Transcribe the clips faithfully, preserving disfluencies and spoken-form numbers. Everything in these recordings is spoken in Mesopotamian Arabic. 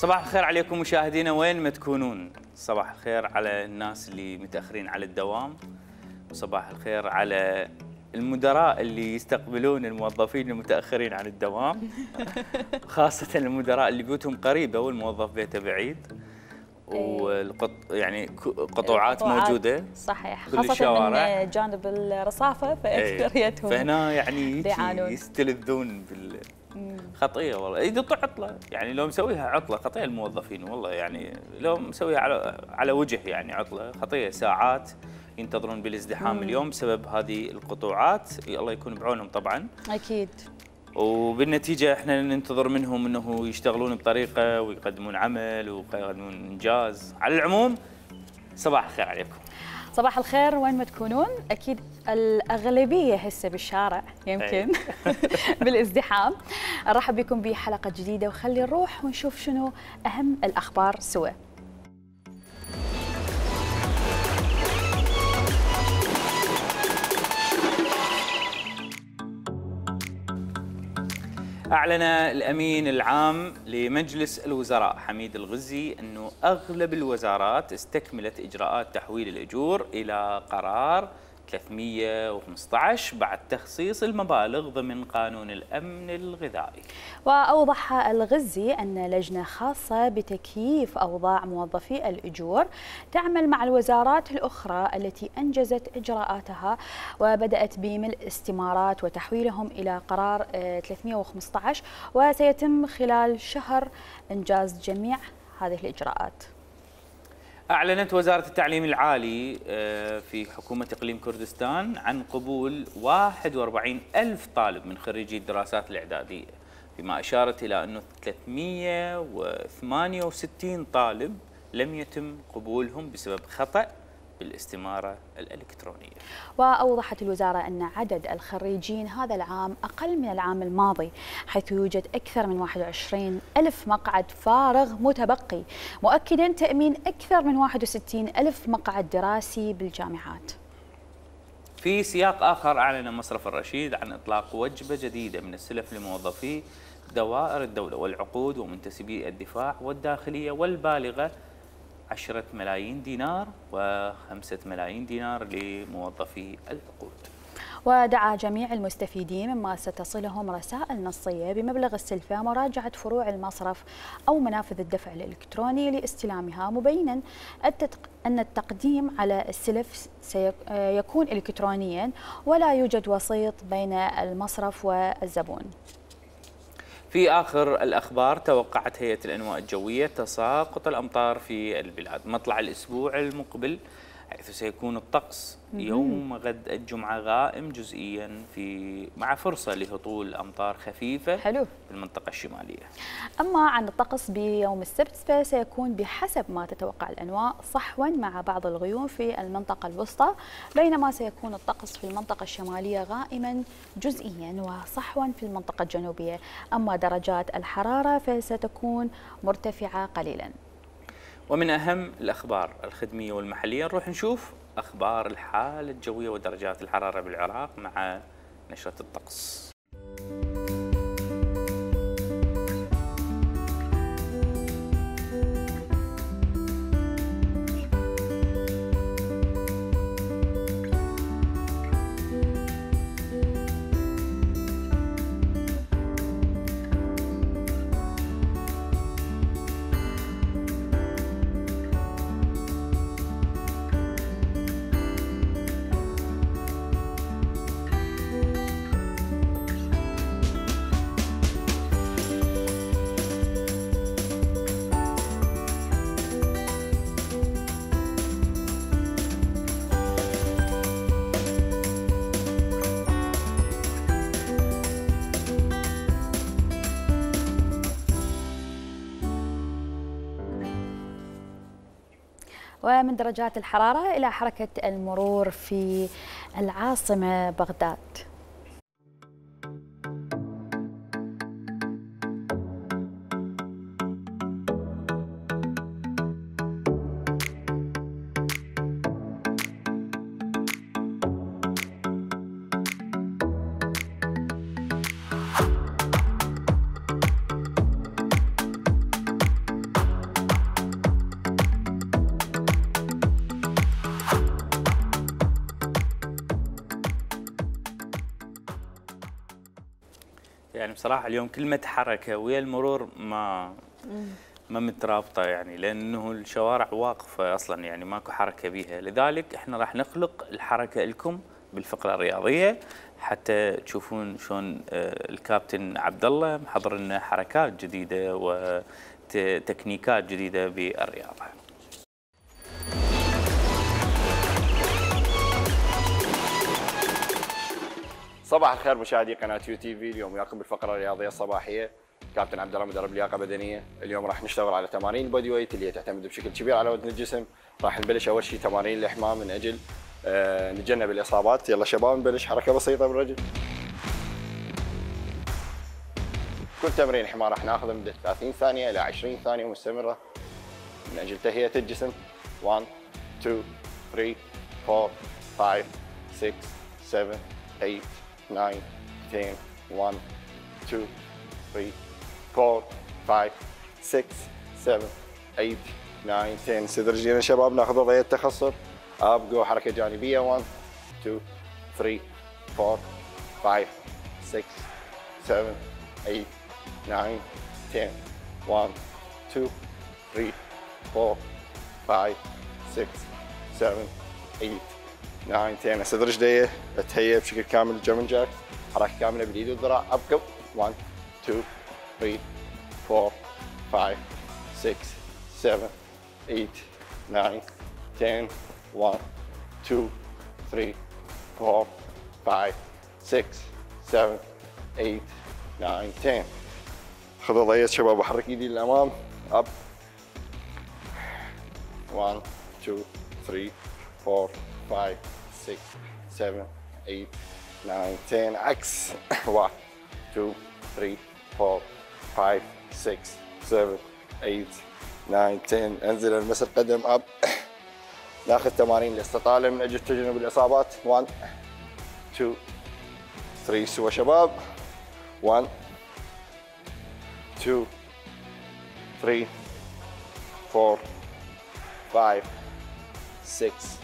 صباح الخير عليكم مشاهدينا وين ما تكونون. صباح الخير على الناس اللي متأخرين على الدوام، وصباح الخير على المدراء اللي يستقبلون الموظفين المتأخرين عن الدوام، خاصة المدراء اللي بيوتهم قريبة والموظف بيته بعيد، والقط يعني قطوعات موجودة صحيح، خاصة من جانب الرصافة فأكثريتهم فهنا يعني يستلذون بال خطية والله. إذا عطلة يعني لو مسويها عطلة خطية الموظفين والله، يعني لو مسويها على على وجه يعني عطلة خطية، ساعات ينتظرون بالازدحام مم. اليوم بسبب هذه القطوعات، الله يكون بعونهم طبعا. أكيد. وبالنتيجة احنا ننتظر منهم انه يشتغلون بطريقة ويقدمون عمل ويقدمون انجاز. على العموم صباح الخير عليكم. صباح الخير وين ما تكونون. اكيد الاغلبيه هسه بالشارع يمكن بالازدحام. نرحب بكم بحلقه جديده وخلي نروح ونشوف شنو اهم الاخبار سوا. أعلن الأمين العام لمجلس الوزراء حميد الغزي أنه أغلب الوزارات استكملت إجراءات تحويل الأجور إلى قرار ثلاثمئة وخمسة عشر بعد تخصيص المبالغ ضمن قانون الأمن الغذائي. وأوضح الغزي أن لجنة خاصة بتكييف أوضاع موظفي الأجور تعمل مع الوزارات الأخرى التي أنجزت إجراءاتها وبدأت بملء استمارات وتحويلهم إلى قرار ثلاثمئة وخمسة عشر، وسيتم خلال شهر إنجاز جميع هذه الإجراءات. أعلنت وزارة التعليم العالي في حكومة إقليم كردستان عن قبول واحد وأربعين ألف طالب من خريجي الدراسات الإعدادية، فيما أشارت إلى أنه ثلاثمئة وثمانية وستين طالب لم يتم قبولهم بسبب خطأ بالاستمارة الإلكترونية. وأوضحت الوزارة أن عدد الخريجين هذا العام أقل من العام الماضي، حيث يوجد أكثر من واحد وعشرين ألف مقعد فارغ متبقي، مؤكدا تأمين أكثر من واحد وستين ألف مقعد دراسي بالجامعات. في سياق آخر، أعلن مصرف الرشيد عن إطلاق وجبة جديدة من السلف لموظفي دوائر الدولة والعقود ومنتسبي الدفاع والداخلية، والبالغة عشرة ملايين دينار وخمسة ملايين دينار لموظفي العقود. ودعا جميع المستفيدين مما ستصلهم رسائل نصية بمبلغ السلفة مراجعة فروع المصرف أو منافذ الدفع الإلكتروني لاستلامها، مبينا أن التقديم على السلف سيكون إلكترونيا ولا يوجد وسيط بين المصرف والزبون. في آخر الأخبار، توقعت هيئة الأنواء الجوية تساقط الأمطار في البلاد مطلع الأسبوع المقبل، حيث سيكون الطقس يوم غد الجمعة غائم جزئيا في مع فرصة لهطول أمطار خفيفة حلو في المنطقة الشمالية. أما عن الطقس بيوم السبت فسيكون بحسب ما تتوقع الأنواء صحوا مع بعض الغيوم في المنطقة الوسطى، بينما سيكون الطقس في المنطقة الشمالية غائما جزئيا وصحوا في المنطقة الجنوبية. أما درجات الحرارة فستكون مرتفعة قليلا. ومن أهم الأخبار الخدمية والمحلية نروح نشوف أخبار الحالة الجوية ودرجات الحرارة بالعراق مع نشرة الطقس. ومن درجات الحرارة إلى حركة المرور في العاصمة بغداد. يعني بصراحه اليوم كلمه حركه ويا المرور ما ما مترابطه، يعني لانه الشوارع واقفه اصلا، يعني ماكو حركه بيها. لذلك احنا راح نخلق الحركه لكم بالفقره الرياضيه حتى تشوفون شلون الكابتن عبد الله محضر لنا حركات جديده وتكنيكات جديده بالرياضه. صباح الخير مشاهدي قناه يو تي في، اليوم وياكم بالفقره الرياضيه الصباحيه. كابتن عبد الله مدرب لياقه بدنيه. اليوم راح نشتغل على تمارين البودي ويت اللي هي تعتمد بشكل كبير على وزن الجسم. راح نبلش اول شيء تمارين الاحماء من اجل آه نتجنب الاصابات. يلا شباب نبلش. حركه بسيطه بالرجل. كل تمرين حمار راح ناخذه مده ثلاثين ثانيه الى عشرين ثانيه مستمره من اجل تهيئه الجسم. واحد اثنين ثلاثة أربعة خمسة ستة سبعة ثمانية تسعة عشرة واحد اثنين ثلاثة أربعة خمسة ستة سبعة ثمانية تسعة عشرة. صدر رجلينا شباب ناخذ وضعيه تخصر. اب جو حركه جانبيه. واحد اثنين ثلاثة أربعة خمسة ستة سبعة ثمانية تسعة عشرة واحد اثنين ثلاثة أربعة خمسة ستة سبعة ثمانية تسعة عشرة. صدر رجليه اتهيئ بشكل كامل الجيرمان جاك. حركه كامله باليد والذراع. اب جو. واحد اثنين ثلاثة أربعة خمسة ستة سبعة ثمانية تسعة عشرة واحد اثنين ثلاثة أربعة خمسة ستة سبعة ثمانية تسعة. خذ وضعيه شباب وحرك ايدي للامام. اب. واحد اثنين ثلاثة أربعة خمسة ستة سبعة ثمانية تسعة عشرة. عكس. واحد اثنين ثلاثة أربعة خمسة ستة سبعة ثمانية تسعة عشرة. انزل المس القدم. اب. ناخذ تمارين الاستطاله من اجل تجنب الاصابات. واحد اثنين ثلاثة سوا شباب. واحد اثنين ثلاثة أربعة خمسة ستة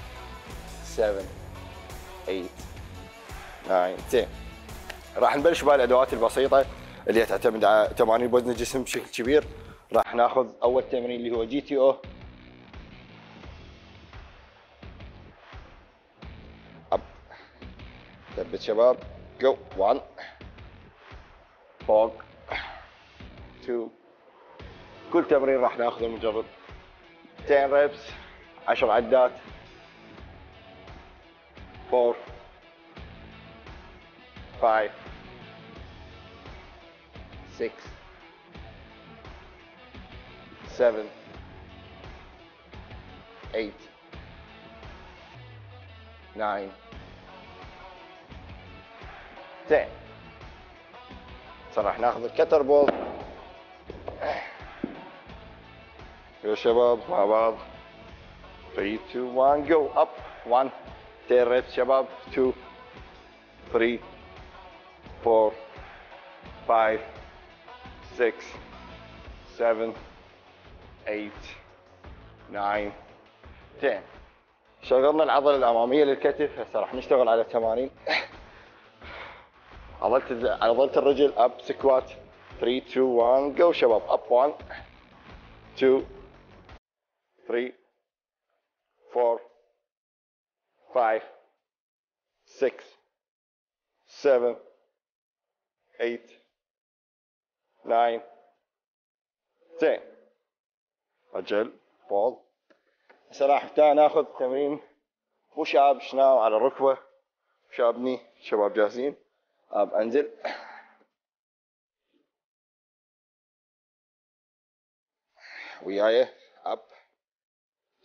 سبعة ثمانية تسعة عشرة. راح نبلش بالادوات البسيطه اللي تعتمد على تمارين بوزن الجسم بشكل كبير. راح ناخذ اول تمرين اللي هو جي تي او. اب. ثبت شباب. جو. واحد فوق اثنين. كل تمرين راح ناخذه مجرد عشرة ريبس عشر عدات. أربعة خمسة ستة سبعة ثمانية تسعة عشرة. صار راح ناخذ الكتر بول يا شباب مع بعض. ثلاثة اثنين واحد جو. اب. واحد عشرة ريبس شباب. اثنين ثلاثة أربعة خمسة ستة سبعة ثمانية تسعة عشرة. شغلنا العضله الاماميه للكتف. هسه راح نشتغل على تمارين عضله عضله الرجل. اب سكوات. ثلاثة اثنين واحد جو شباب. اب. واحد اثنين ثلاثة أربعة خمسة ستة سبعة ثمانية تسعة عشرة. رجل بول. هسه راح ناخذ تمرين بوش اب شناو على الركبه. شابني شباب جاهزين. اب. انزل. وياي. اب.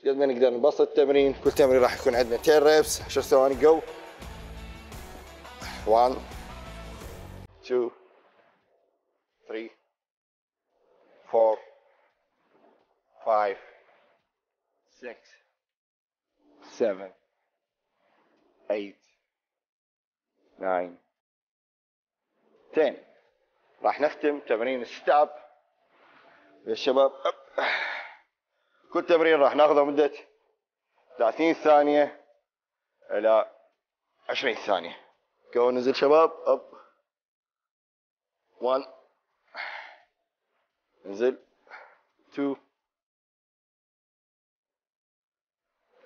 قد ما نقدر نبسط التمرين. كل تمرين راح يكون عندنا عشرة ريبس عشر ثواني. جو. واحد اثنين ثلاثة أربعة خمسة ستة سبعة ثمانية تسعة عشرة. راح نختم تمرين الستاب يا شباب. كل تمرين راح ناخذه مدة ثلاثين ثانية إلى عشرين ثانية. جو. نزل شباب. أب. one. انزل. two.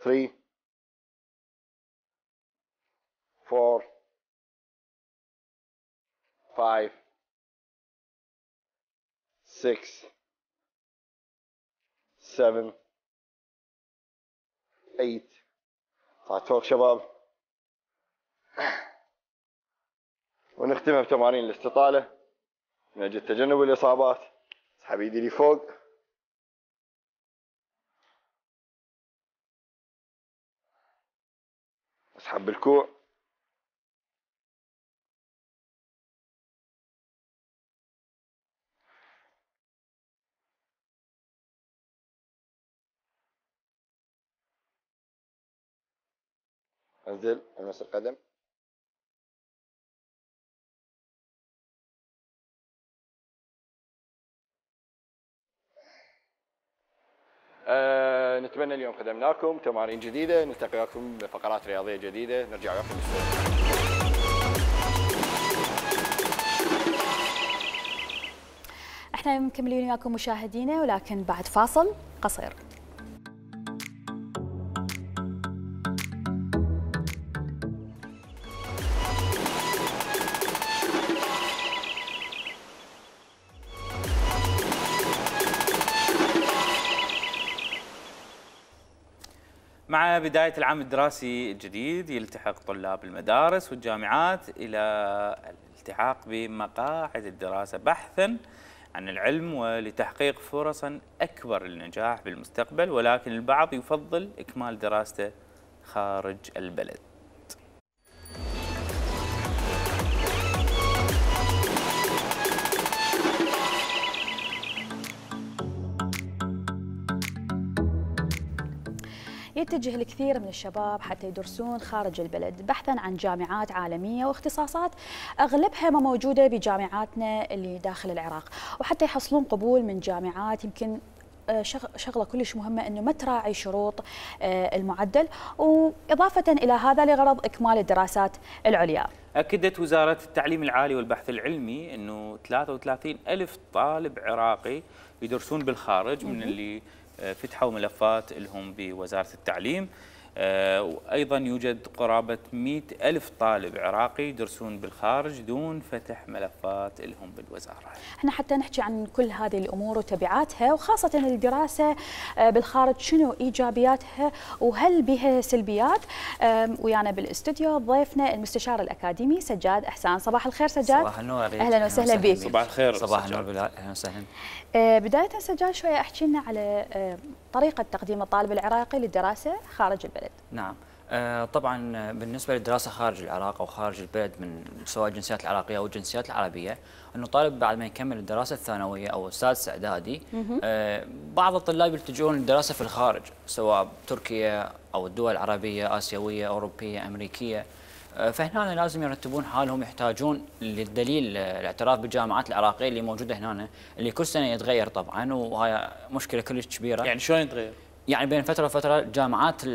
three. four. five. six. seven. eight. طلعت فوق شباب. ونختمها بتمارين الاستطالة من أجل تجنب الإصابات. اسحب ايدي لي فوق. اسحب بالكوع. انزل المس القدم. أه نتمنى اليوم خدمناكم تمارين جديدة. نلتقيكم بفقرات رياضية جديدة. نرجع لكم السلام. احنا مكملين وياكم مشاهدينا ولكن بعد فاصل قصير. مع بداية العام الدراسي الجديد يلتحق طلاب المدارس والجامعات إلى الالتحاق بمقاعد الدراسة بحثاً عن العلم ولتحقيق فرص أكبر للنجاح بالمستقبل، ولكن البعض يفضل إكمال دراسته خارج البلد. يتجه الكثير من الشباب حتى يدرسون خارج البلد بحثا عن جامعات عالمية واختصاصات أغلبها ما موجودة بجامعاتنا اللي داخل العراق، وحتى يحصلون قبول من جامعات يمكن شغلة كلش مهمة أنه ما تراعي شروط المعدل، وإضافة إلى هذا لغرض إكمال الدراسات العليا. أكدت وزارة التعليم العالي والبحث العلمي أنه ثلاثة وثلاثين ألف طالب عراقي يدرسون بالخارج من اللي فتحوا ملفات لهم بوزارة التعليم، وأيضا يوجد قرابة مئة ألف طالب عراقي يدرسون بالخارج دون فتح ملفات لهم بالوزارة. احنا حتى نحكي عن كل هذه الأمور وتبعاتها، وخاصة الدراسة بالخارج شنو إيجابياتها وهل بها سلبيات. ويانا بالاستوديو ضيفنا المستشار الأكاديمي سجاد أحسان. صباح الخير سجاد. صباح النور. أهلا وسهلا بك. صباح الخير. صباح النور. أهلا وسهلا. بداية سجاد شوية احكي لنا على طريقة تقديم الطالب العراقي للدراسة خارج البلد. نعم. طبعا بالنسبة للدراسة خارج العراق أو خارج البلد من سواء الجنسيات العراقية أو الجنسيات العربية، أنه طالب بعد ما يكمل الدراسة الثانوية أو السادس إعدادي بعض الطلاب يلتجؤون للدراسة في الخارج سواء تركيا أو الدول العربية آسيوية أوروبية أمريكية. فهنا لازم يرتبون حالهم، يحتاجون للدليل الاعتراف بالجامعات العراقية اللي موجودة هنا اللي كل سنة يتغير طبعا، وهي مشكلة كلش كبيرة. يعني شلون يتغير؟ يعني بين فترة وفترة الجامعات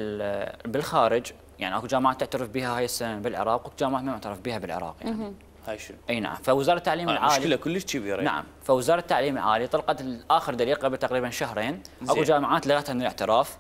بالخارج يعني اكو جامعات تعترف بها هاي السنة بالعراق واكو جامعات ما معترف بها بالعراق يعني. هاي شنو؟ اي نعم. فوزارة التعليم آه العالي مشكلة كلش كبيرة. نعم. فوزارة التعليم العالي طلقت اخر دليل قبل تقريبا شهرين. اكو جامعات لغتها من الاعتراف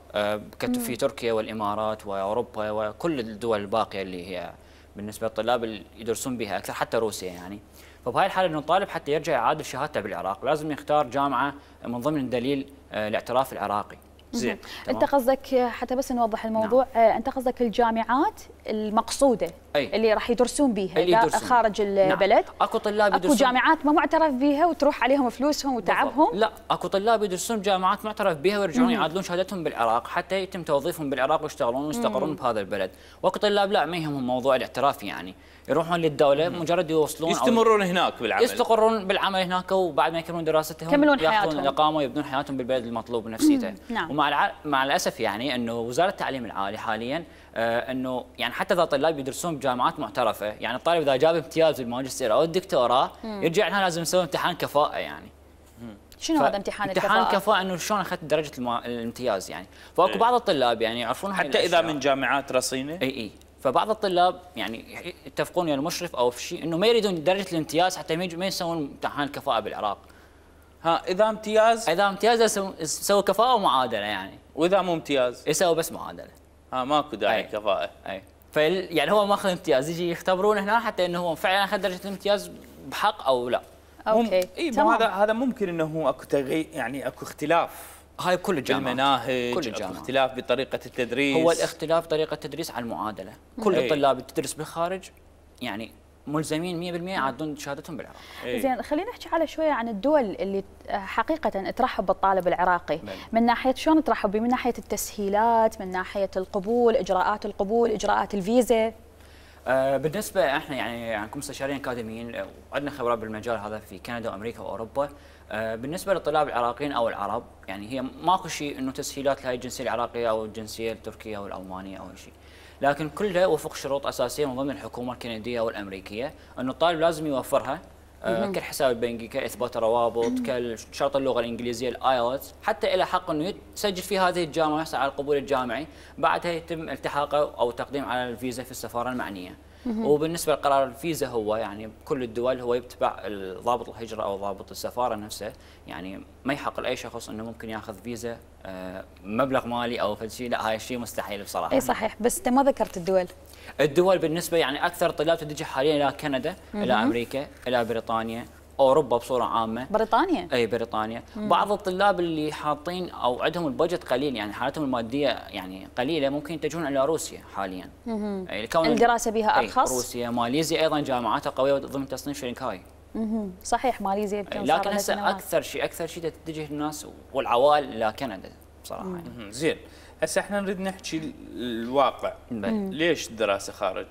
في تركيا والامارات واوروبا وكل الدول الباقية اللي هي بالنسبة للطلاب اللي يدرسون بها اكثر، حتى روسيا يعني. فبهاي الحالة انه الطالب حتى يرجع يعادل شهادته بالعراق لازم يختار جامعة من ضمن دليل الاعتراف العراقي. زين. انت قصدك حتى بس نوضح الموضوع، نعم. انت قصدك الجامعات المقصوده أي. اللي راح يدرسون بها خارج البلد. نعم. اكو طلاب يدرسون، اكو جامعات ما معترف بها وتروح عليهم فلوسهم وتعبهم. بالضبط. لا، اكو طلاب يدرسون جامعات معترف بها ويرجعون يعادلون شهادتهم بالعراق حتى يتم توظيفهم بالعراق ويشتغلون ويستقرون بهذا البلد. واكو طلاب لا ما يهمهم موضوع الاعتراف يعني، يروحون للدوله مم. مجرد يوصلون يستمرون هناك بالعمل، يستقرون بالعمل هناك، وبعد ما يكملون دراستهم يكملون ياخذون الاقامه ويبنون حياتهم بالبلد المطلوب نفسيته. نعم. ومع الع... مع الاسف يعني انه وزاره التعليم العالي حاليا آه انه يعني حتى اذا طلاب يدرسون بجامعات معترفه، يعني الطالب اذا جاب امتياز بالماجستير او الدكتوراه مم. يرجع لها لازم يسوي امتحان كفاءه يعني. مم. شنو هذا امتحان الكفاءه؟ امتحان كفاءه انه شلون اخذت درجه الم... الامتياز يعني. فاكو بعض الطلاب يعني يعرفون حتى اذا من جامعات رصينه. اي اي فبعض الطلاب يعني يتفقون ويا المشرف او في شيء انه ما يريدون درجه الامتياز حتى ما يجوا- ما يسوون امتحان الكفاءه بالعراق. ها اذا امتياز اذا امتياز يسوون- يسووا كفاءه ومعادله يعني، واذا مو امتياز يسووا بس معادله. ها ماكو داعي أي. كفاءه. اي فال يعني هو ماخذ امتياز، يجي يختبرونه هنا حتى انه هو فعلا اخذ درجه الامتياز بحق او لا. اوكي اي تمام. هذا هذا ممكن انه اكو تغيير، يعني اكو اختلاف هاي بكل الجامعات، بالمناهج، كل اكو الجامعات. اختلاف بطريقه التدريس. هو الاختلاف طريقه التدريس على المعادله، كل أي. الطلاب اللي تدرس بالخارج يعني ملزمين مية بالمية يعدون شهادتهم بالعراق. إي. زين خلينا نحكي على شويه عن الدول اللي حقيقه ترحب بالطالب العراقي. بل. من ناحيه شلون ترحب به؟ من ناحيه التسهيلات، من ناحيه القبول، اجراءات القبول، اجراءات الفيزا. آه بالنسبه احنا يعني عندكم مستشارين اكاديميين آه، وعندنا خبرات بالمجال هذا في كندا وامريكا واوروبا. آه بالنسبه للطلاب العراقيين او العرب يعني هي ماكو شيء انه تسهيلات لهي الجنسيه العراقيه او الجنسيه التركيه او الالمانيه او شيء، لكن كلها وفق شروط اساسيه من ضمن الحكومه الكنديه والامريكيه انه الطالب لازم يوفرها. آه كالحساب البنكي، كاثبات روابط، كشرط اللغه الانجليزيه الايلتس، حتى الى حق انه يسجل في هذه الجامعه ويحصل على القبول الجامعي، بعدها يتم التحاقه او تقديم على الفيزا في السفاره المعنيه. وبالنسبه لقرار الفيزا هو يعني بكل الدول هو يتبع ضابط الهجره او ضابط السفاره نفسه، يعني ما يحق لاي شخص انه ممكن ياخذ فيزا آه مبلغ مالي او فد شيء، لا هاي الشيء مستحيل بصراحه. اي صحيح، بس انت ما ذكرت الدول. الدول بالنسبه يعني اكثر طلاب تتجه حاليا الى كندا، الى امريكا، الى بريطانيا، اوروبا بصوره عامه. بريطانيا. اي بريطانيا. مم. بعض الطلاب اللي حاطين او عندهم البادجت قليل يعني حالتهم الماديه يعني قليله ممكن يتجهون الى روسيا حاليا. اي الدراسه بها ارخص. روسيا، ماليزيا ايضا جامعاتها قويه ضمن تصنيف شنغهاي. مم. صحيح ماليزيا يمكن لكن هسه اكثر شيء اكثر شيء تتجه الناس والعوائل الى كندا بصراحه. يعني. زين هسه احنا نريد نحكي الواقع. ليش الدراسه خارج؟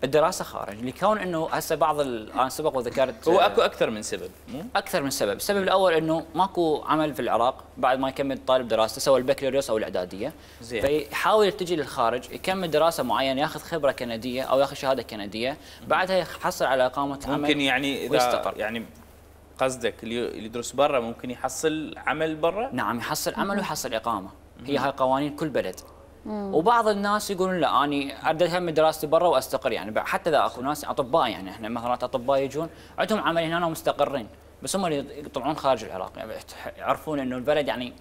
الدراسه خارج لكون انه هسه بعض انا سبق وذكرت هو اكو اكثر من سبب مو؟ اكثر من سبب، السبب الاول انه ماكو عمل في العراق بعد ما يكمل الطالب دراسته سواء البكالوريوس او الاعداديه. زين. فيحاول يتجه للخارج يكمل دراسه معينه ياخذ خبره كنديه او ياخذ شهاده كنديه، بعدها يحصل على اقامه عمل ممكن يعني اذا ويستقر. يعني قصدك اللي يدرس برا ممكن يحصل عمل برا؟ نعم يحصل عمل ويحصل اقامه، هي هاي قوانين كل بلد. وبعض الناس يقولون لا اني اريد اكمل دراستي برا واستقر، يعني حتى اذا اكو ناس اطباء يعني احنا مثلا اطباء يجون عندهم عمل هنا ومستقرين، بس هم اللي يطلعون خارج العراق يعني يعرفون انه البلد يعني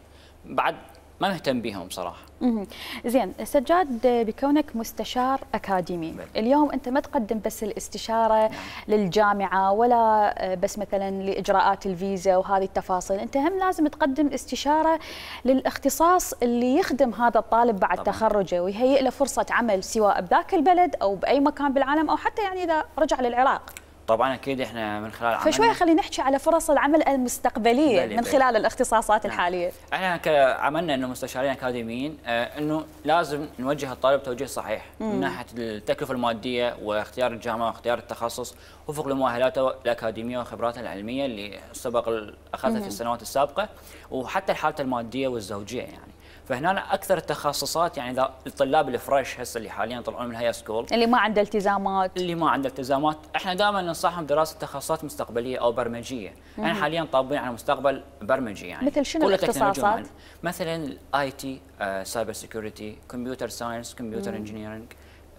بعد ما مهتم بهم بصراحه. مم. زين سجاد، بكونك مستشار اكاديمي بل. اليوم انت ما تقدم بس الاستشاره نعم. للجامعه ولا بس مثلا لاجراءات الفيزا وهذه التفاصيل، انت هم لازم تقدم استشاره للاختصاص اللي يخدم هذا الطالب بعد طبعا. تخرجه ويهيئ له فرصه عمل سواء بذاك البلد او باي مكان بالعالم او حتى يعني اذا رجع للعراق. طبعا اكيد احنا من خلال عملنا فشوي خلينا نحكي على فرص العمل المستقبليه بلي من بلي. خلال الاختصاصات نعم. الحاليه. احنا كعملنا انه مستشارين اكاديميين آه انه لازم نوجه الطالب توجيه صحيح مم. من ناحيه التكلفه الماديه واختيار الجامعه واختيار التخصص وفق لمؤهلاته الاكاديميه وخبراته العلميه اللي سبق اخذها في السنوات السابقه وحتى حالته الماديه والزوجيه يعني. فهنا اكثر التخصصات يعني اذا الطلاب الفريش هسه اللي حاليا طلعون من الهاي سكول اللي ما عنده التزامات اللي ما عنده التزامات احنا دائما ننصحهم بدراسه تخصصات مستقبليه او برمجيه. احنا يعني حاليا طابين على مستقبل برمجي يعني مثل شنو الاختصاصات؟ مثلا الاي تي، سايبر سيكيورتي، كمبيوتر ساينس، كمبيوتر انجينيرنج،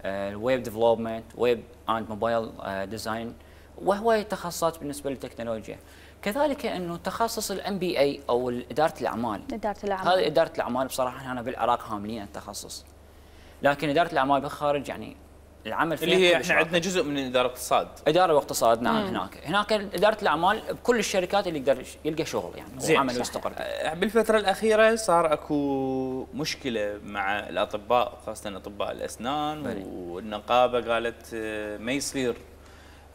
الويب ديفلوبمنت، ويب اند موبايل ديزاين وهواي تخصصات بالنسبه للتكنولوجيا. كذلك انه تخصص الام بي اي او اداره الاعمال. اداره الاعمال هذه اداره الاعمال بصراحه هنا بالعراق هاملين التخصص. لكن اداره الاعمال بالخارج يعني العمل فيها اللي هي احنا عندنا جزء من اداره الاقتصاد. اداره واقتصاد نعم. مم. هناك هناك اداره الاعمال بكل الشركات اللي يقدر يلقى شغل يعني وعمل ويستقر. بالفتره الاخيره صار اكو مشكله مع الاطباء خاصه اطباء الاسنان بلي. والنقابه قالت ما يصير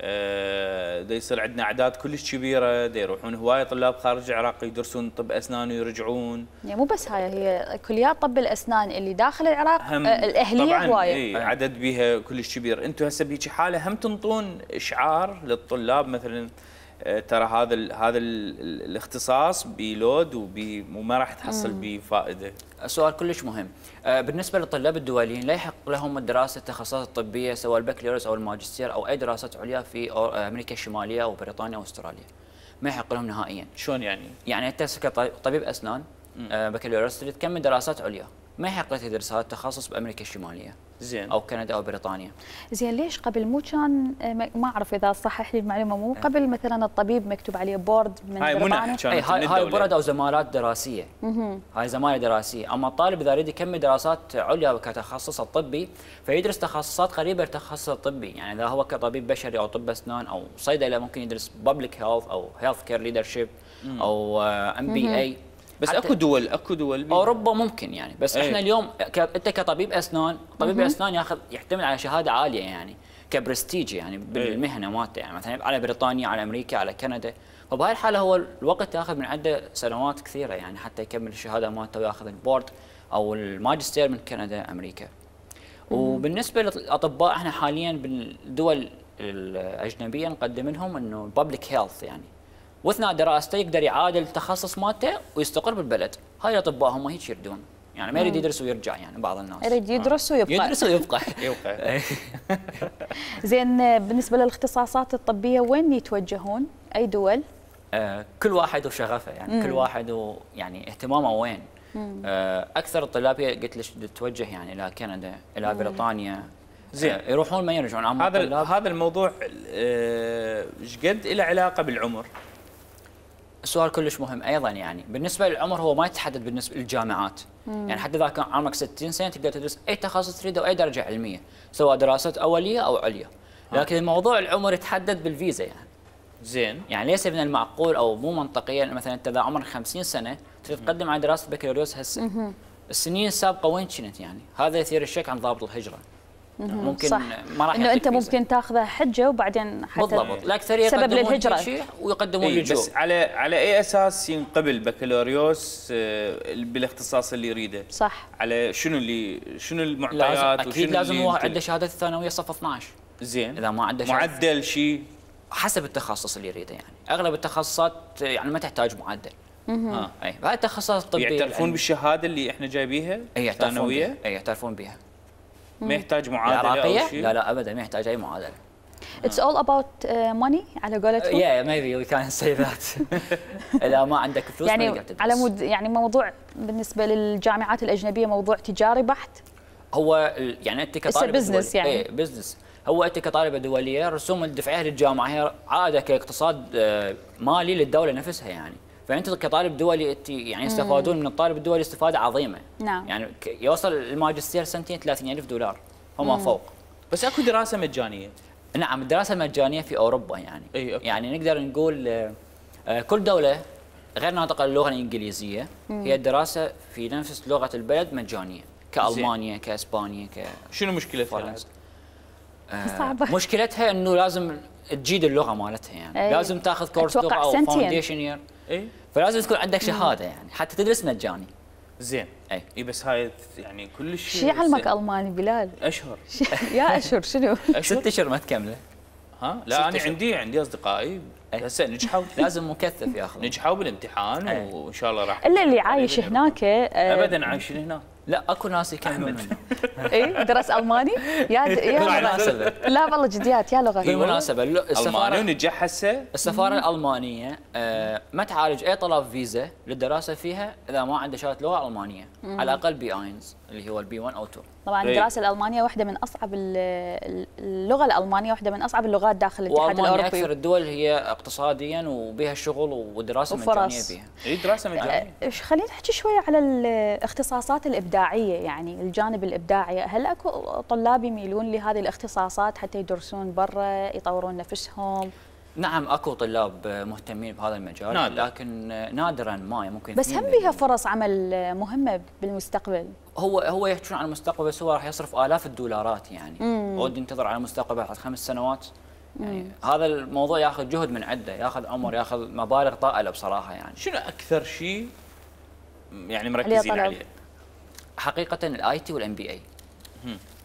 دا يصير عندنا اعداد كلش كبيره، دا يروحون هوايه طلاب خارج العراق يدرسون طب اسنان ويرجعون. يعني مو بس هاي، هي كليات طب الاسنان اللي داخل العراق الاهليه هوايه. اي عدد بيها كلش كبير. انتم هسه بهيك حاله هم تنطون اشعار للطلاب مثلا ترى هذا ال هذا ال الاختصاص بلود وما راح تحصل به فائده. سؤال كلش مهم. بالنسبه للطلاب الدوليين لا يحق لهم الدراسه التخصصات الطبيه سواء البكالوريوس او الماجستير او اي دراسات عليا في امريكا الشماليه او بريطانيا او استراليا. ما يحق لهم نهائيا. شلون يعني؟ يعني انت كطبيب اسنان بكالوريوس تريد تكمل دراسات عليا ما يحق له يدرس هذا التخصص بامريكا الشماليه زين. او كندا او بريطانيا. زين ليش قبل مو كان ما اعرف اذا صحح لي المعلومه، مو قبل مثلا الطبيب مكتوب عليه بورد من هاي بريطانيا؟ منح كانت اي هاي هاي الدولة. برد او زمالات دراسيه. هاي زماله دراسيه، اما الطالب اذا يريد يكمل دراسات عليا كتخصص الطبي فيدرس تخصصات قريبه للتخصص الطبي، يعني اذا هو كطبيب بشري او طب اسنان او صيدله ممكن يدرس بابليك هيلث او هيلث كير ليدرشيب او ام بي اي. بس اكو دول اكو دول بي. اوروبا ممكن يعني، بس أي. احنا اليوم ك... انت كطبيب اسنان، طبيب الاسنان ياخذ يعتمد على شهاده عاليه يعني كبرستيج يعني بالمهنه مالته، يعني مثلا على بريطانيا على امريكا على كندا، فبهاي الحاله هو الوقت ياخذ من عنده سنوات كثيره يعني حتى يكمل الشهاده مالته وياخذ البورد او الماجستير من كندا امريكا. وبالنسبه للاطباء احنا حاليا بالدول الاجنبيه نقدم لهم انه بابليك هيلث يعني، واثناء دراسته يقدر يعادل التخصص مالته ويستقر بالبلد. هاي الاطباء هم هيك يردون يعني، ما يريد يدرس ويرجع يعني بعض الناس يريد يدرس ويبقى. يدرس ويبقى يبقى. زين بالنسبه للاختصاصات الطبيه وين يتوجهون؟ اي دول؟ آه كل واحد وشغفه يعني، مم. كل واحد ويعني اهتمامه وين. آه اكثر الطلاب قلت لك تتوجه يعني الى كندا الى مم. بريطانيا. زين. آه يروحون ما يرجعون. هذا هذا الموضوع ايش آه قد له علاقه بالعمر؟ السؤال كلش مهم ايضا يعني، بالنسبه للعمر هو ما يتحدد بالنسبه للجامعات، مم. يعني حتى اذا كان عمرك ستين سنه تقدر تدرس اي تخصص تريده واي درجه علميه، سواء دراسات اوليه او عليا، لكن الموضوع العمر يتحدد بالفيزا يعني. زين. يعني ليس من المعقول او مو منطقيا مثلا انت اذا عمرك خمسين سنه تريد تقدم على دراسه بكالوريوس هسه، السنين السابقه وين كنت يعني؟ هذا يثير الشك عن ضابط الهجره. ممكن صح. ما راح انه انت ممكن تاخذه حجه وبعدين حتى بالضبط، الاكثريه سبب للهجره ويقدمون إيه لجوء. بس على على اي اساس ينقبل بكالوريوس بالاختصاص اللي يريده؟ صح. على شنو اللي شنو المعطيات؟ لازم اكيد لازم هو عنده شهاده الثانويه صف اثنعش. زين. اذا ما عنده معدل شيء حسب التخصص اللي يريده يعني، اغلب التخصصات يعني ما تحتاج معدل. اه اي هاي التخصصات الطبيه يعترفون بالشهاده اللي احنا جايبيها؟ اي ثانويه؟ اي يعترفون بها. ما يحتاج معادله او شيء؟ لا لا ابدا ما يحتاج اي معادله. It's all about uh, money على قولتهم. Yeah maybe we can say that. اذا ما عندك فلوس يعني ما تقدر تدرس. على مود يعني موضوع بالنسبه للجامعات الاجنبيه موضوع تجاري بحت. هو يعني انت كطالب بزنس يعني. اي بزنس. هو انت كطالبه دوليه رسوم الدفعيه للجامعه هي عاده كاقتصاد مالي للدوله نفسها يعني، فانت كطالب دولي انت يعني يستفادون من الطالب الدولي استفاده عظيمه. نعم. يعني يوصل الماجستير سنتين ثلاثين ألف دولار وما فوق. بس اكو دراسه مجانيه. نعم الدراسه المجانيه في اوروبا يعني. أي أوكي. يعني نقدر نقول كل دوله غير ناطقه اللغه الانجليزيه هي الدراسه في نفس لغه البلد مجانيه، كالمانيا كاسبانيا ك شنو مشكلتها؟ فرنسا. صعبة. مشكلتها انه لازم تجيد اللغه مالتها يعني. أي. لازم تاخذ كورس لغه او فاونديشن يير. اي فلازم تكون عندك شهاده يعني حتى تدرس مجاني. زين. اي اي بس هاي يعني كلش شو يعلمك الماني بلال؟ اشهر. يا اشهر شنو؟ ست اشهر ما تكمله. ها لا انا عندي عندي اصدقائي هسه نجحوا. لازم مكثف ياخذ. نجحوا بالامتحان أي. وان شاء الله راح. الا اللي عايش هناك ابدا عايشين هناك. لا اكو ناس يكملون منه. اي درس الماني يا يا بالمناسبة. لا والله جديات يا لغه. بالمناسبه الماني السفاره ونجح هسه. السفاره الالمانيه آه ما تعالج اي طلب فيزا للدراسه فيها اذا ما عنده شهاده لغه المانيه، على الاقل بي اينز اللي هو البي واحد او اثنين. طبعا الدراسه الالمانيه واحده من اصعب اللغه الالمانيه واحده من اصعب اللغات داخل الاتحاد الاوروبي. والمانيا اكثر الدول هي اقتصاديا وبها الشغل والدراسه مجانيه بها. اي دراسه مجانيه. خلينا نحكي شويه على الاختصاصات الابداعيه يعني الجانب الابداعي، هل اكو طلاب يميلون لهذه الاختصاصات حتى يدرسون برا يطورون نفسهم؟ نعم اكو طلاب مهتمين بهذا المجال نادر. لكن نادرا ما ممكن. بس هم بيها فرص عمل مهمه بالمستقبل. هو هو يحكون عن المستقبل بس هو راح يصرف آلاف الدولارات يعني. ودي ينتظر على المستقبل بعد خمس سنوات. يعني مم. هذا الموضوع ياخذ جهد من عنده، ياخذ عمر، ياخذ مبالغ طائله بصراحه يعني. شنو اكثر شيء يعني مركزين عليه؟ حقيقه الاي تي والام بي اي.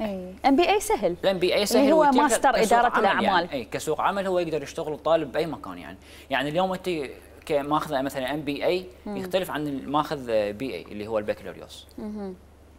اي ام بي اي سهل. الام بي اي سهل اللي هو ماستر اداره الاعمال. يعني. اي كسوق عمل هو يقدر يشتغل الطالب باي مكان يعني. يعني اليوم انت كماخذ مثلا ام بي اي يختلف عن الماخذ بي اي اللي هو البكالوريوس.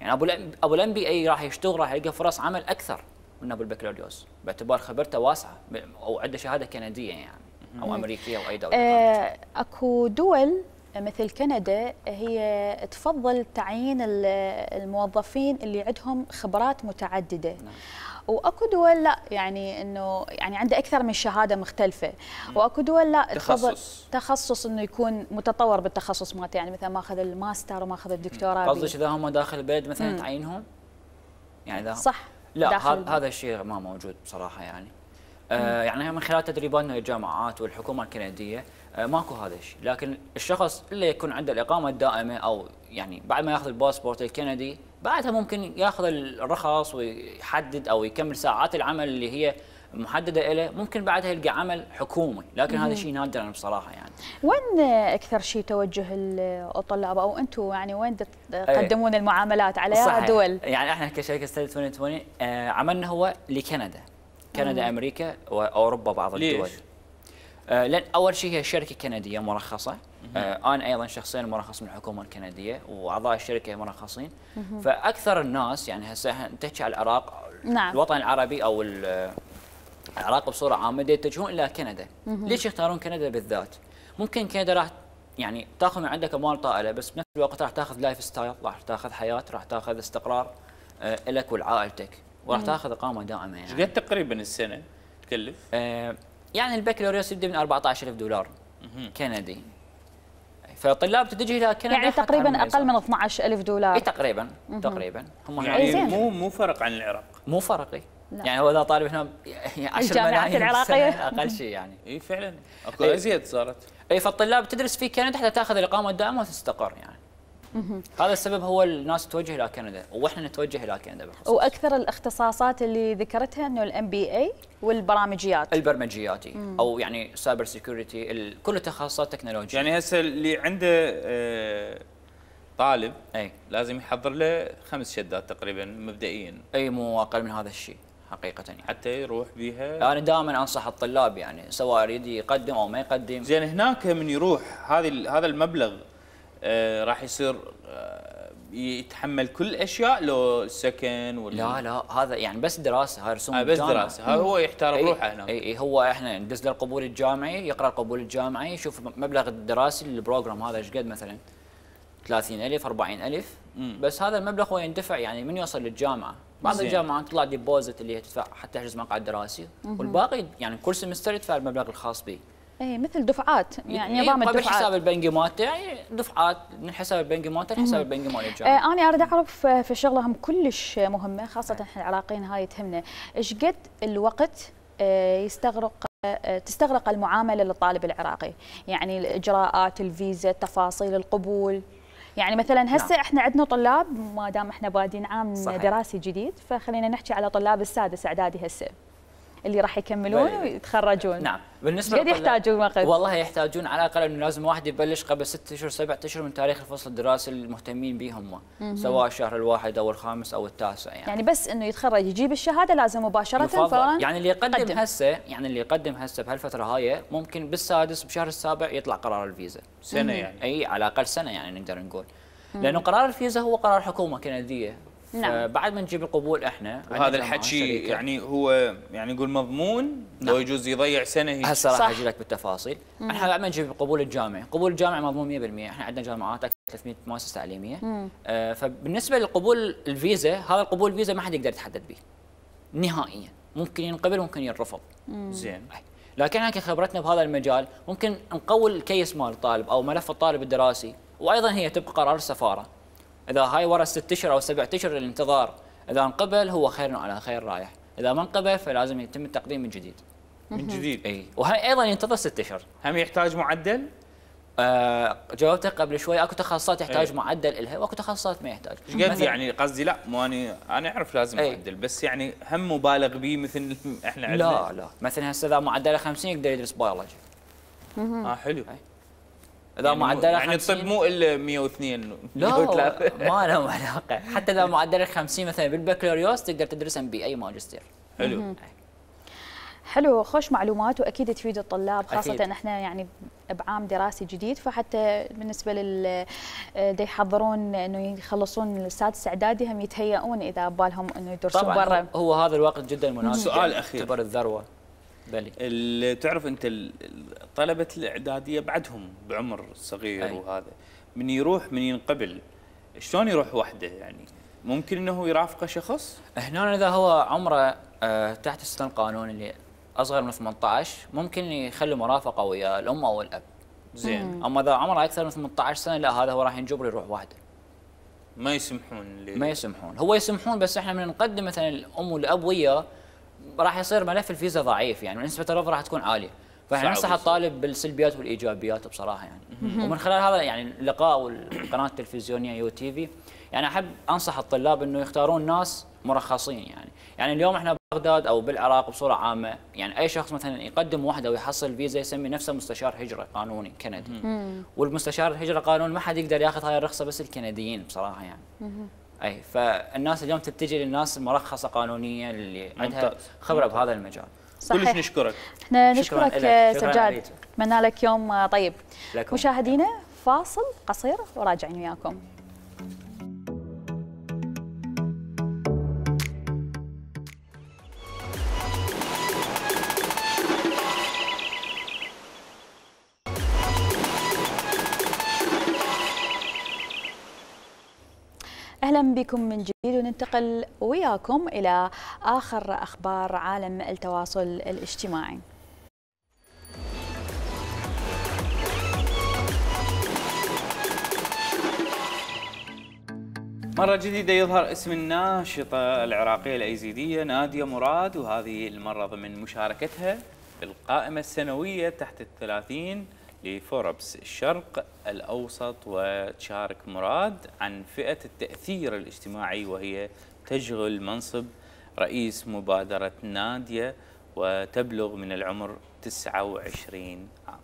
يعني ابو ابو الام بي اي راح يشتغل راح يلقى فرص عمل اكثر من ابو البكالوريوس باعتبار خبرته واسعه او عنده شهاده كنديه يعني او امريكيه او اي دوله. آه اكو دول مثل كندا هي تفضل تعيين الموظفين اللي عندهم خبرات متعدده. نعم. واكو دول لا، يعني انه يعني عنده اكثر من شهاده مختلفه، واكو دول لا تفضل تخصص تخصص انه يكون متطور بالتخصص مالته، يعني مثلا ماخذ الماستر وماخذ الدكتوراه. قصدك اذا هم داخل البلد مثلا تعينهم؟ يعني اذا صح. لا، هذا الشيء ما موجود بصراحه يعني. آه يعني من خلال تدريباتنا للجامعات والحكومه الكنديه آه ماكو هذا الشيء، لكن الشخص اللي يكون عنده الاقامه الدائمه او يعني بعد ما ياخذ الباسبورت الكندي بعدها ممكن ياخذ الرخص ويحدد او يكمل ساعات العمل اللي هي محدده له، ممكن بعدها يلقى عمل حكومي، لكن هذا شيء نادرا بصراحه يعني. وين اكثر شيء توجه الطلاب او انتم يعني وين تقدمون المعاملات على صحيح. دول؟ يعني احنا كشركه ستدي ألفين وعشرين آه عملنا هو لكندا، كندا، امريكا واوروبا بعض الدول. آه لان اول شيء هي شركه كنديه مرخصه، آه انا ايضا شخصيا مرخص من الحكومه الكنديه واعضاء الشركه مرخصين. فاكثر الناس يعني هسه نحكي على العراق، نعم. الوطن العربي او العراق بصوره عامه يتجهون الى كندا. ليش يختارون كندا بالذات؟ ممكن كندا راح يعني تاخذ من عندك اموال طائله، بس بنفس الوقت راح تاخذ لايف ستايل، راح تاخذ حياه، راح تاخذ استقرار آه لك ولعائلتك، وراح تاخذ اقامه دائمه يعني. ايش قد تقريبا السنه تكلف؟ آه يعني البكالوريوس يبدا من أربعة عشر ألف دولار كندي. فالطلاب تتجه الى كندا يعني تقريبا اقل من اثني عشر ألف دولار. اي تقريبا تقريبا هم يعني مو مو فرق عن العراق. مو فرق. لا. يعني هو اذا طالب هنا عشر ملايين العراقيه اقل شيء يعني. اي فعلا اكو ازيد صارت. اي فالطلاب تدرس في كندا حتى تاخذ الاقامه الدائمه وتستقر يعني. هذا السبب هو الناس تتوجه الى كندا واحنا نتوجه الى كندا بالخصوص. واكثر الاختصاصات اللي ذكرتها انه الام بي اي والبرامجيات. البرمجياتي او يعني سايبر سيكيورتي، كل التخصصات تكنولوجيا. يعني هسه اللي عنده آه طالب اي لازم يحضر له خمس شهادات تقريبا مبدئيا. اي مو اقل من هذا الشيء حقيقه يعني. حتى يروح بيها. انا دائما انصح الطلاب يعني سواء يريد يقدم او ما يقدم. زين هناك من يروح هذه هذا المبلغ آه راح يصير آه يتحمل كل الاشياء لو سكن ولا؟ لا لا هذا يعني بس دراسه، هاي رسوم آه بس دراسه، هذا هو يحتار بروحه هناك. اي اي هو احنا ندز له القبول الجامعي، يقرا القبول الجامعي، يشوف مبلغ الدراسي للبروجرام هذا ايش قد مثلا ثلاثين ألف أربعين ألف، بس هذا المبلغ هو يندفع يعني من يوصل للجامعه. بعض زين. الجامعات تطلع ديبوزيت اللي هي تدفع حتى تحجز مقعد دراسي، والباقي يعني كل سمستر يدفع المبلغ الخاص به. اي مثل دفعات يعني نظام الدفعات. بالحساب البنكي مالته يعني دفعات من حساب البنكي مالته لحساب البنكي مال الجامعه. آه انا اريد اعرف في شغله هم كلش مهمه خاصه احنا العراقيين هاي تهمنا، ايش قد الوقت آه يستغرق آه تستغرق المعامله للطالب العراقي؟ يعني الاجراءات، الفيزا، تفاصيل القبول. يعني مثلا هسه نعم. احنا عندنا طلاب ما دام احنا بادين عام صحيح. دراسي جديد، فخلينا نحكي على طلاب السادس اعدادي هسه اللي راح يكملون ويتخرجون. نعم بالنسبه قد يحتاجون وقت؟ والله يحتاجون على الاقل انه لازم واحد يبلش قبل ست اشهر سبعة اشهر من تاريخ الفصل الدراسي المهتمين به هم، سواء الشهر الواحد او الخامس او التاسع يعني. يعني بس انه يتخرج يجيب الشهاده لازم مباشره فورا. يعني اللي يقدم قدم. هسه يعني اللي يقدم هسه بهالفتره هاي ممكن بالسادس بشهر السابع يطلع قرار الفيزا. سنه يعني. اي على الاقل سنه يعني نقدر نقول. لانه قرار الفيزا هو قرار حكومه كنديه. نعم. بعد ما نجيب القبول احنا وهذا الحكي يعني هو يعني نقول مضمون. نعم. لو يجوز يضيع سنه هيك. هسه راح اجي لك بالتفاصيل. مم. احنا بعد ما نجيب القبول الجامعي، قبول الجامعي مضمون مئة بالمئة، احنا عندنا جامعات اكثر من ثلاثمئة مؤسسه تعليميه. آه فبالنسبه للقبول الفيزا، هذا القبول الفيزا ما حد يقدر يتحدد به نهائيا، ممكن ينقبل ممكن ينرفض. زين. لكن احنا كخبرتنا بهذا المجال ممكن نقوي الكيس مال الطالب او ملف الطالب الدراسي، وايضا هي تبقى قرار السفاره. اذا هاي ورا ست اشهر او سبع اشهر الانتظار، اذا انقبل هو خير على خير رايح، اذا ما انقبل فلازم يتم التقديم من جديد. من جديد؟ اي وهي ايضا ينتظر ست اشهر. هم يحتاج معدل؟ آه جاوبتك قبل شوي، اكو تخصصات يحتاج أي. معدل لها واكو تخصصات ما يحتاج. ايش قد يعني قصدي لا مو اني انا اعرف لازم أي. معدل، بس يعني هم مبالغ به مثل احنا عندنا. لا لا مثلا هسه اذا معدله خمسين يقدر يدرس بيولوجي. اه حلو. أي. اذا يعني معدله يعني الطب مو الا مئة واثنين لا ما له علاقه، حتى اذا معدله خمسين مثلا بالبكالوريوس تقدر تدرس ام بي اي ماجستير. حلو. حلو، خوش معلومات واكيد تفيد الطلاب، خاصه أكيد. احنا يعني بعام دراسي جديد، فحتى بالنسبه لل دي يحضرون انه يخلصون السادس اعدادي هم يتهيئون اذا بالهم انه يدرسون برا. هو هذا الوقت جدا مناسب. سؤال اخير، تعتبر الذروه. بلي. اللي تعرف انت طلبه الاعداديه بعدهم بعمر صغير أي. وهذا من يروح من ينقبل شلون يروح وحده يعني ممكن انه يرافقه شخص؟ هنا اذا هو عمره آه تحت السن القانوني اللي اصغر من ثمانية عشر ممكن يخلي مرافقه ويا الام او الاب. زين. اما اذا عمره اكثر من ثمانية عشر سنه لا هذا هو راح ينجبر يروح وحده. ما يسمحون لي. ما يسمحون، هو يسمحون بس احنا من نقدم مثلا الام والاب وياه راح يصير ملف الفيزا ضعيف يعني ونسبه الرفض راح تكون عاليه. فاحنا ننصح الطالب بالسلبيات والايجابيات بصراحه يعني. ومن خلال هذا يعني اللقاء والقناه التلفزيونيه يو تي في يعني احب انصح الطلاب انه يختارون ناس مرخصين يعني، يعني اليوم احنا ببغداد او بالعراق بصوره عامه يعني اي شخص مثلا يقدم وحده ويحصل فيزا يسمي نفسه مستشار هجره قانوني كندي. والمستشار الهجره قانوني ما حد يقدر ياخذ هاي الرخصه بس الكنديين بصراحه يعني. اي فالناس اليوم تتجه للناس المرخصه قانونيا اللي عندها خبره بهذا المجال. كلش نشكرك. احنا نشكرك سجاد، اتمنى لك يوم طيب. لكم. مشاهدينا فاصل قصير وراجعين وياكم. أهلا بكم من جديد وننتقل وياكم إلى آخر أخبار عالم التواصل الاجتماعي. مرة جديدة يظهر اسم الناشطة العراقية الأيزيدية نادية مراد، وهذه المرة ضمن مشاركتها بالقائمة السنوية تحت الثلاثين لفوربس الشرق الأوسط. وتشارك مراد عن فئة التأثير الاجتماعي وهي تشغل منصب رئيس مبادرة نادية وتبلغ من العمر تسعة وعشرين عام.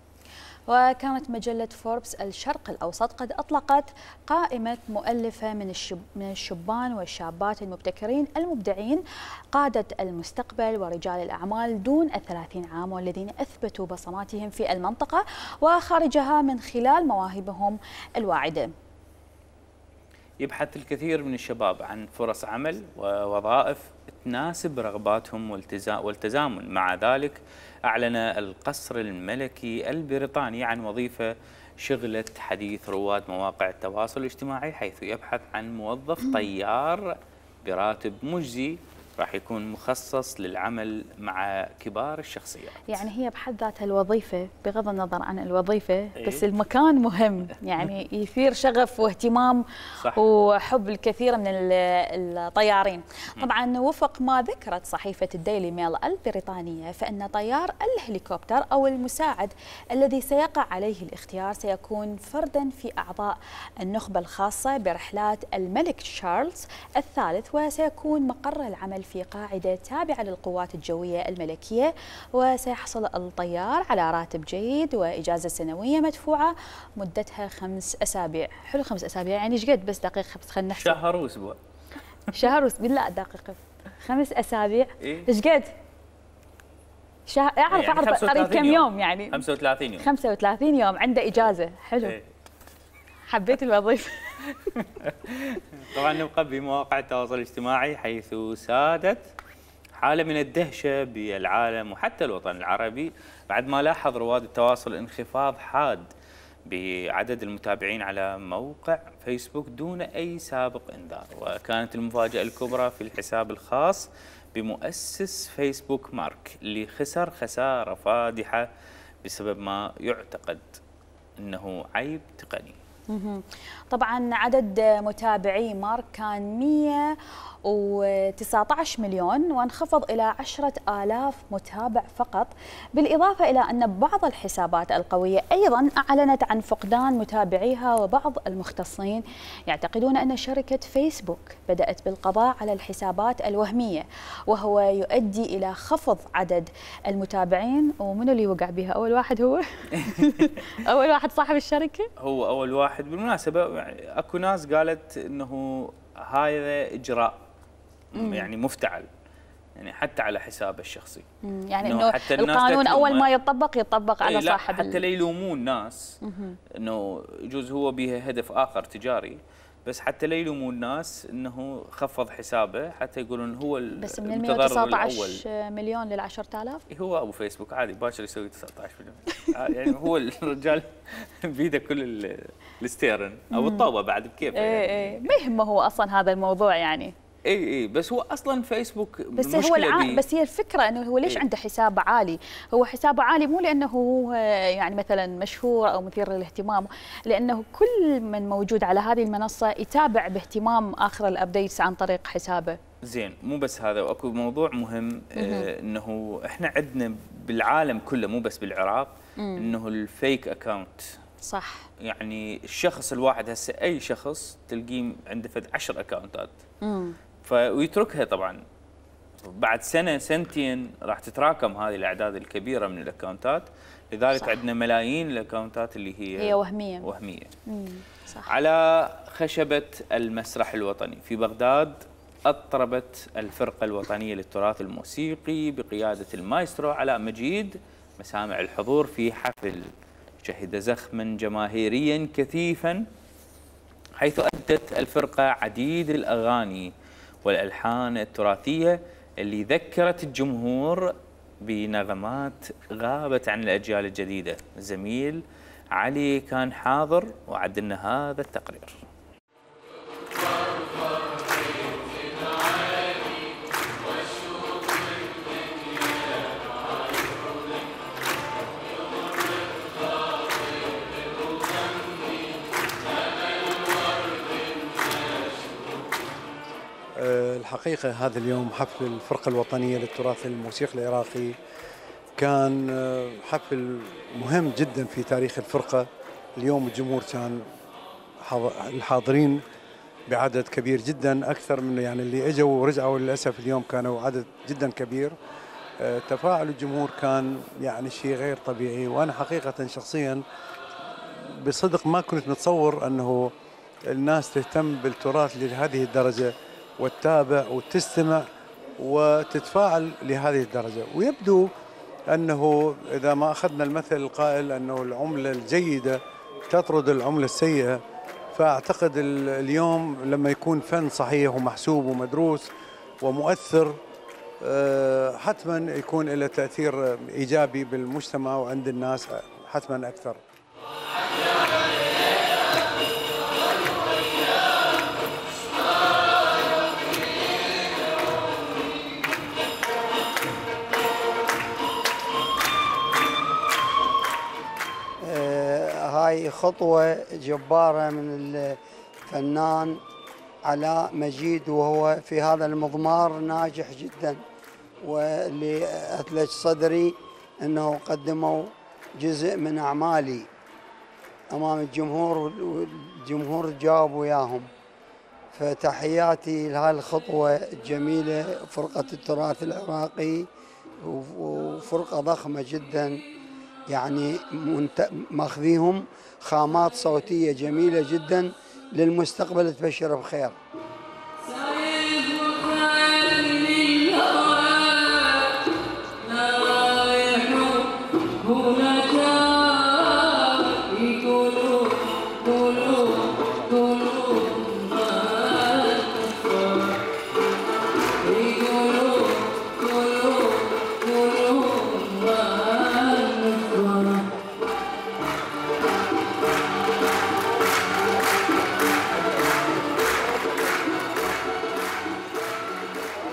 وكانت مجلة فوربس الشرق الأوسط قد أطلقت قائمة مؤلفة من الشب من الشبان والشابات المبتكرين المبدعين قادة المستقبل ورجال الأعمال دون الثلاثين عام والذين أثبتوا بصماتهم في المنطقة وخارجها من خلال مواهبهم الواعدة. يبحث الكثير من الشباب عن فرص عمل ووظائف تناسب رغباتهم والتزامن. مع ذلك أعلن القصر الملكي البريطاني عن وظيفة شغلت حديث رواد مواقع التواصل الاجتماعي، حيث يبحث عن موظف طيار براتب مجزي راح يكون مخصص للعمل مع كبار الشخصيات. يعني هي بحد ذاتها الوظيفة بغض النظر عن الوظيفة بس المكان مهم، يعني يثير شغف واهتمام صح. وحب الكثير من الطيارين. طبعا وفق ما ذكرت صحيفة الديلي ميل البريطانية فإن طيار الهليكوبتر أو المساعد الذي سيقع عليه الاختيار سيكون فردا في أعضاء النخبة الخاصة برحلات الملك تشارلز الثالث، وسيكون مقر العمل في قاعدة تابعة للقوات الجوية الملكية، وسيحصل الطيار على راتب جيد وإجازة سنوية مدفوعة مدتها خمس أسابيع. حلو خمس أسابيع يعني ايش قد؟ بس دقيقة بس خلينا نحسب. شهر وأسبوع. شهر وأسبوع لا دقيقة خمس أسابيع إيه؟ ايش قد؟ شهر أعرف يعني أعرف قريب كم يوم. يوم يعني خمسة وثلاثين يوم. خمسة وثلاثين يوم عنده إجازة. حلو. إيه؟ حبيت الوظيفة. طبعا نبقى بمواقع التواصل الاجتماعي حيث سادت حالة من الدهشة بالعالم وحتى الوطن العربي بعد ما لاحظ رواد التواصل انخفاض حاد بعدد المتابعين على موقع فيسبوك دون أي سابق إنذار. وكانت المفاجأة الكبرى في الحساب الخاص بمؤسس فيسبوك مارك اللي خسر خسارة فادحة بسبب ما يعتقد أنه عيب تقني. طبعا عدد متابعي مارك كان مئة وتسعة عشر مليون وانخفض إلى عشرة آلاف متابع فقط، بالإضافة إلى أن بعض الحسابات القوية أيضا أعلنت عن فقدان متابعيها. وبعض المختصين يعتقدون أن شركة فيسبوك بدأت بالقضاء على الحسابات الوهمية وهو يؤدي إلى خفض عدد المتابعين. ومن اللي وقع بها أول واحد؟ هو أول واحد صاحب الشركة، هو أول واحد. بالمناسبة يعني أكو ناس قالت أنه هذا إجراء مم. يعني مفتعل يعني حتى على حسابه الشخصي. يعني انه القانون اول ما يطبق يطبق على لا صاحب حتى لا يلومون ناس انه يجوز هو به هدف اخر تجاري، بس حتى لا يلومون الناس انه خفض حسابه، حتى يقولون هو بس من ال المتضرر مئة وتسعة الاول. عشر مليون لل عشرة آلاف هو ابو فيسبوك عادي باكر يسوي تسعة عشر مليون يعني هو الرجال بيده كل ال- الستيرن او الطوبه بعد بكيفه ايه يعني. ايه ما يهمه هو اصلا هذا الموضوع يعني. اي اي بس هو اصلا فيسبوك بس هو الع... بس هي الفكره انه هو ليش إيه؟ عنده حساب عالي؟ هو حسابه عالي مو لانه هو يعني مثلا مشهور او مثير للاهتمام، لانه كل من موجود على هذه المنصه يتابع باهتمام اخر الابديتس عن طريق حسابه. زين مو بس هذا، واكو موضوع مهم آه انه احنا عندنا بالعالم كله مو بس بالعراق انه الفيك اكاونت. صح. يعني الشخص الواحد هسه اي شخص تلقيه عنده فد عشر اكاونتات. امم فويتركها طبعا بعد سنه سنتين راح تتراكم هذه الاعداد الكبيره من الاكونتات، لذلك صح. عندنا ملايين الاكونتات اللي هي هي وهميه. وهميه. امم صح. على خشبه المسرح الوطني في بغداد اطربت الفرقه الوطنيه للتراث الموسيقي بقياده المايسترو علاء مجيد مسامع الحضور في حفل شهد زخما جماهيريا كثيفا، حيث أدت الفرقة عديد الأغاني والألحان التراثية اللي ذكرت الجمهور بنغمات غابت عن الأجيال الجديدة. الزميل علي كان حاضر وعد لنا هذا التقرير. الحقيقة هذا اليوم حفل الفرقة الوطنية للتراث الموسيقي العراقي كان حفل مهم جدا في تاريخ الفرقة. اليوم الجمهور كان الحاضرين بعدد كبير جدا، أكثر من يعني اللي اجوا ورجعوا للأسف اليوم كانوا عدد جدا كبير. تفاعل الجمهور كان يعني شيء غير طبيعي، وأنا حقيقة شخصيا بصدق ما كنت متصور أنه الناس تهتم بالتراث لهذه الدرجة وتتابع وتستمع وتتفاعل لهذه الدرجة. ويبدو أنه إذا ما أخذنا المثل القائل أنه العملة الجيدة تطرد العملة السيئة، فأعتقد اليوم لما يكون فن صحيح ومحسوب ومدروس ومؤثر حتما يكون له تأثير إيجابي بالمجتمع وعند الناس حتما أكثر. هاي خطوة جبارة من الفنان علاء مجيد، وهو في هذا المضمار ناجح جدا، واللي أثلج صدري أنه قدموا جزء من أعمالي أمام الجمهور والجمهور جاوب وياهم. فتحياتي لهذه الخطوة الجميلة فرقة التراث العراقي، وفرقة ضخمة جدا يعني ماخذيهم خامات صوتية جميلة جدا للمستقبل تبشر بخير.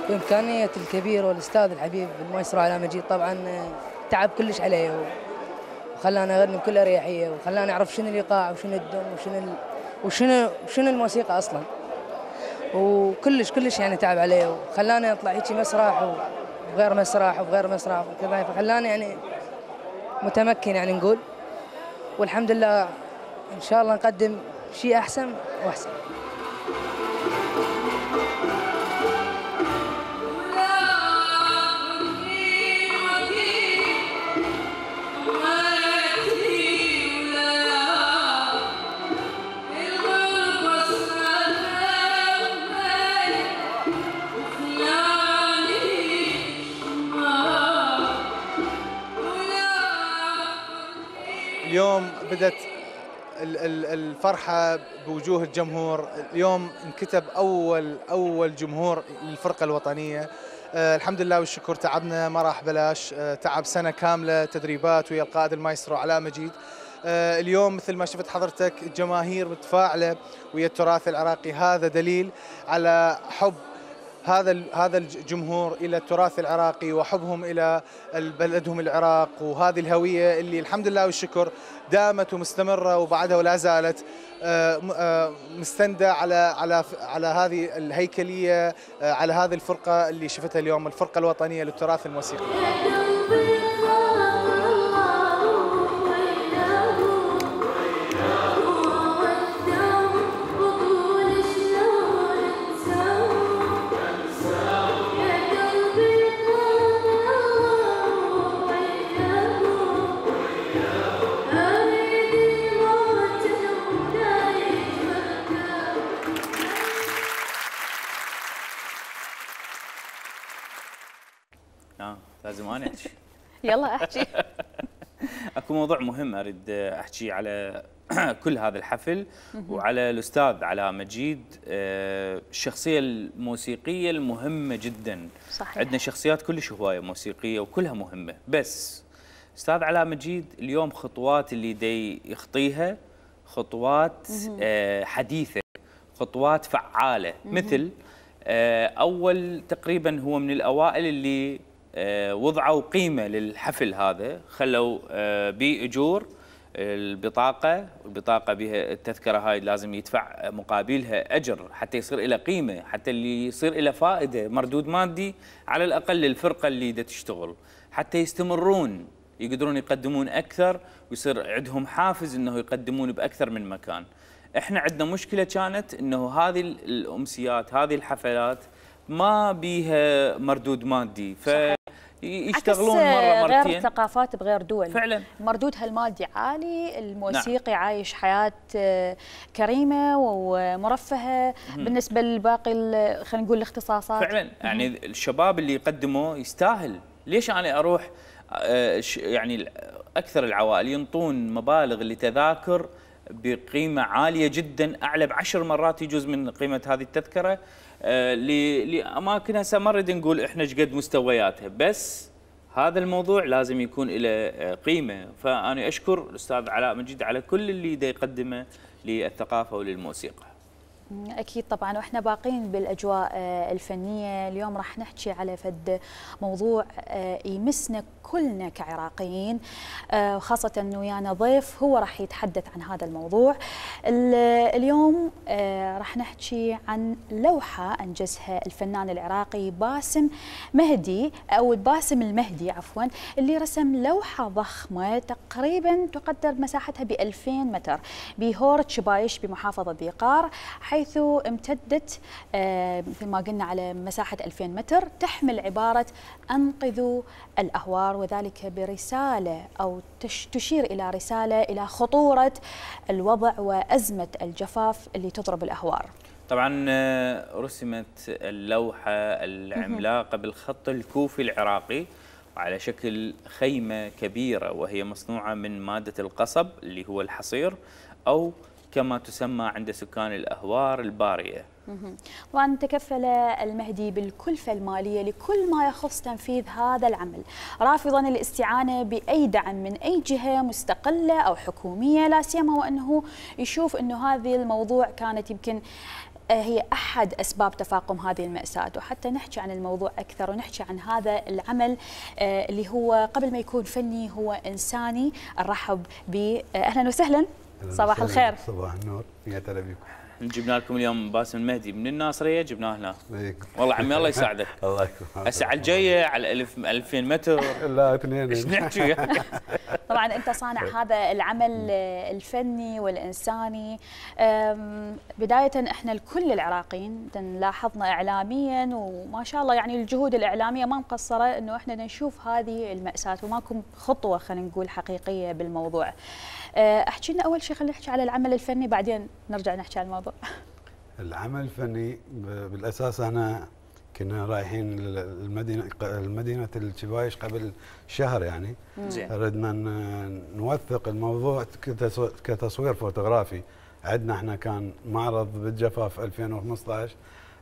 بإمكانية الكبير والأستاذ الحبيب المايسترو علاء مجيد طبعا تعب كلش عليه وخلانا نغني بكل أريحية، وخلانا نعرف شنو الإيقاع وشنو الدم وشنو ال... وشنو وشنو الموسيقى أصلا، وكلش كلش يعني تعب عليه، وخلانا نطلع هيك مسرح وغير مسرح وغير مسرح وكذا، فخلانا يعني متمكن يعني نقول، والحمد لله إن شاء الله نقدم شيء أحسن وأحسن. اليوم بدت الفرحة بوجوه الجمهور. اليوم انكتب أول أول جمهور للفرقة الوطنية. الحمد لله والشكر، تعبنا ما راح بلاش، تعب سنة كاملة تدريبات ويا القائد المايسترو علاء مجيد. اليوم مثل ما شفت حضرتك الجماهير متفاعلة ويا التراث العراقي، هذا دليل على حب هذا هذا الجمهور الى التراث العراقي وحبهم الى بلدهم العراق، وهذه الهويه اللي الحمد لله والشكر دامت ومستمره وبعدها ولا زالت مستندة على على على هذه الهيكليه، على هذه الفرقه اللي شفتها اليوم، الفرقه الوطنيه للتراث الموسيقي. اه لازم انا احكي. يلا احكي. اكو موضوع مهم اريد احكي على كل هذا الحفل وعلى الاستاذ علاء مجيد، الشخصيه الموسيقيه المهمه جدا. صحيح. عندنا شخصيات كلش هوايه موسيقيه وكلها مهمه، بس استاذ علاء مجيد اليوم خطوات اللي دي يخطيها خطوات حديثه، خطوات فعاله. مثل اول تقريبا هو من الاوائل اللي وضعوا قيمه للحفل هذا، خلوا باجور البطاقه، والبطاقه بها التذكره هاي لازم يدفع مقابلها اجر حتى يصير لها قيمه، حتى اللي يصير لها فائده مردود مادي على الاقل للفرقه اللي دا تشتغل، حتى يستمرون يقدرون يقدمون اكثر ويصير عندهم حافز انه يقدمون باكثر من مكان. احنا عندنا مشكله كانت انه هذه الامسيات هذه الحفلات ما بيها مردود مادي، فيشتغلون مره مرتين. غير ثقافات بغير دول فعلا مردودها المادي عالي، الموسيقي نعم. عايش حياه كريمه ومرفهه مم. بالنسبه لباقي خلينا نقول الاختصاصات. فعلا يعني مم. الشباب اللي يقدموا يستاهل. ليش انا اروح يعني اكثر العوائل ينطون مبالغ لتذاكر بقيمة عالية جدا، أعلى بعشر مرات يجوز من قيمة هذه التذكرة لأماكن هسه ما نريد نقول إحنا ايش قد مستوياتها، بس هذا الموضوع لازم يكون له قيمة. فأنا أشكر الأستاذ علاء مجيد على كل اللي دا يقدمه للثقافة وللموسيقى. أكيد طبعا، وإحنا باقين بالأجواء الفنية. اليوم راح نحكي على فد موضوع يمسنا كلنا كعراقيين، وخاصة أنه ويانا ضيف هو راح يتحدث عن هذا الموضوع. اليوم راح نحكي عن لوحة أنجزها الفنان العراقي باسم مهدي أو باسم المهدي عفوا، اللي رسم لوحة ضخمة تقريبا تقدر مساحتها بألفين متر بهورة شبايش بمحافظة ذي قار، حيث امتدت مثل ما قلنا على مساحة ألفين متر، تحمل عبارة أنقذوا الأهوار، وذلك برسالة أو تشير إلى رسالة إلى خطورة الوضع وأزمة الجفاف اللي تضرب الأهوار. طبعا رسمت اللوحة العملاقة بالخط الكوفي العراقي على شكل خيمة كبيرة، وهي مصنوعة من مادة القصب اللي هو الحصير، أو كما تسمى عند سكان الأهوار البارية. طبعا تكفل المهدي بالكلفة المالية لكل ما يخص تنفيذ هذا العمل، رافضا الاستعانة بأي دعم من أي جهة مستقلة أو حكومية، لا سيما وأنه يشوف أنه هذه الموضوع كانت يمكن هي أحد أسباب تفاقم هذه المأساة. وحتى نحكي عن الموضوع أكثر ونحكي عن هذا العمل اللي هو قبل ما يكون فني هو إنساني، نرحب ب أهلا وسهلا. صباح الخير. صباح النور، يا هلا بكم. جبنا لكم اليوم باسم المهدي من الناصريه، جبناه هنا. والله عمي الله يساعدك. الله يكرمك. هسه على الجايه على ألف ألفين متر. لا اثنين. ايش نحكي؟ طبعا انت صانع هذا العمل الفني والانساني. بدايه احنا الكل العراقيين لاحظنا اعلاميا وما شاء الله يعني الجهود الاعلاميه ما مقصره انه احنا نشوف هذه الماساه وماكو خطوه خلينا نقول حقيقيه بالموضوع. احكي لنا اول شيء، خلينا نحكي على العمل الفني بعدين نرجع نحكي على الموضوع. العمل الفني بالاساس انا كنا رايحين المدينه المدينه الشبايش قبل شهر يعني. زين. ردنا ن- نوثق الموضوع كتصو- كتصوير فوتوغرافي. عندنا احنا كان معرض بالجفاف ألفين وخمسة عشر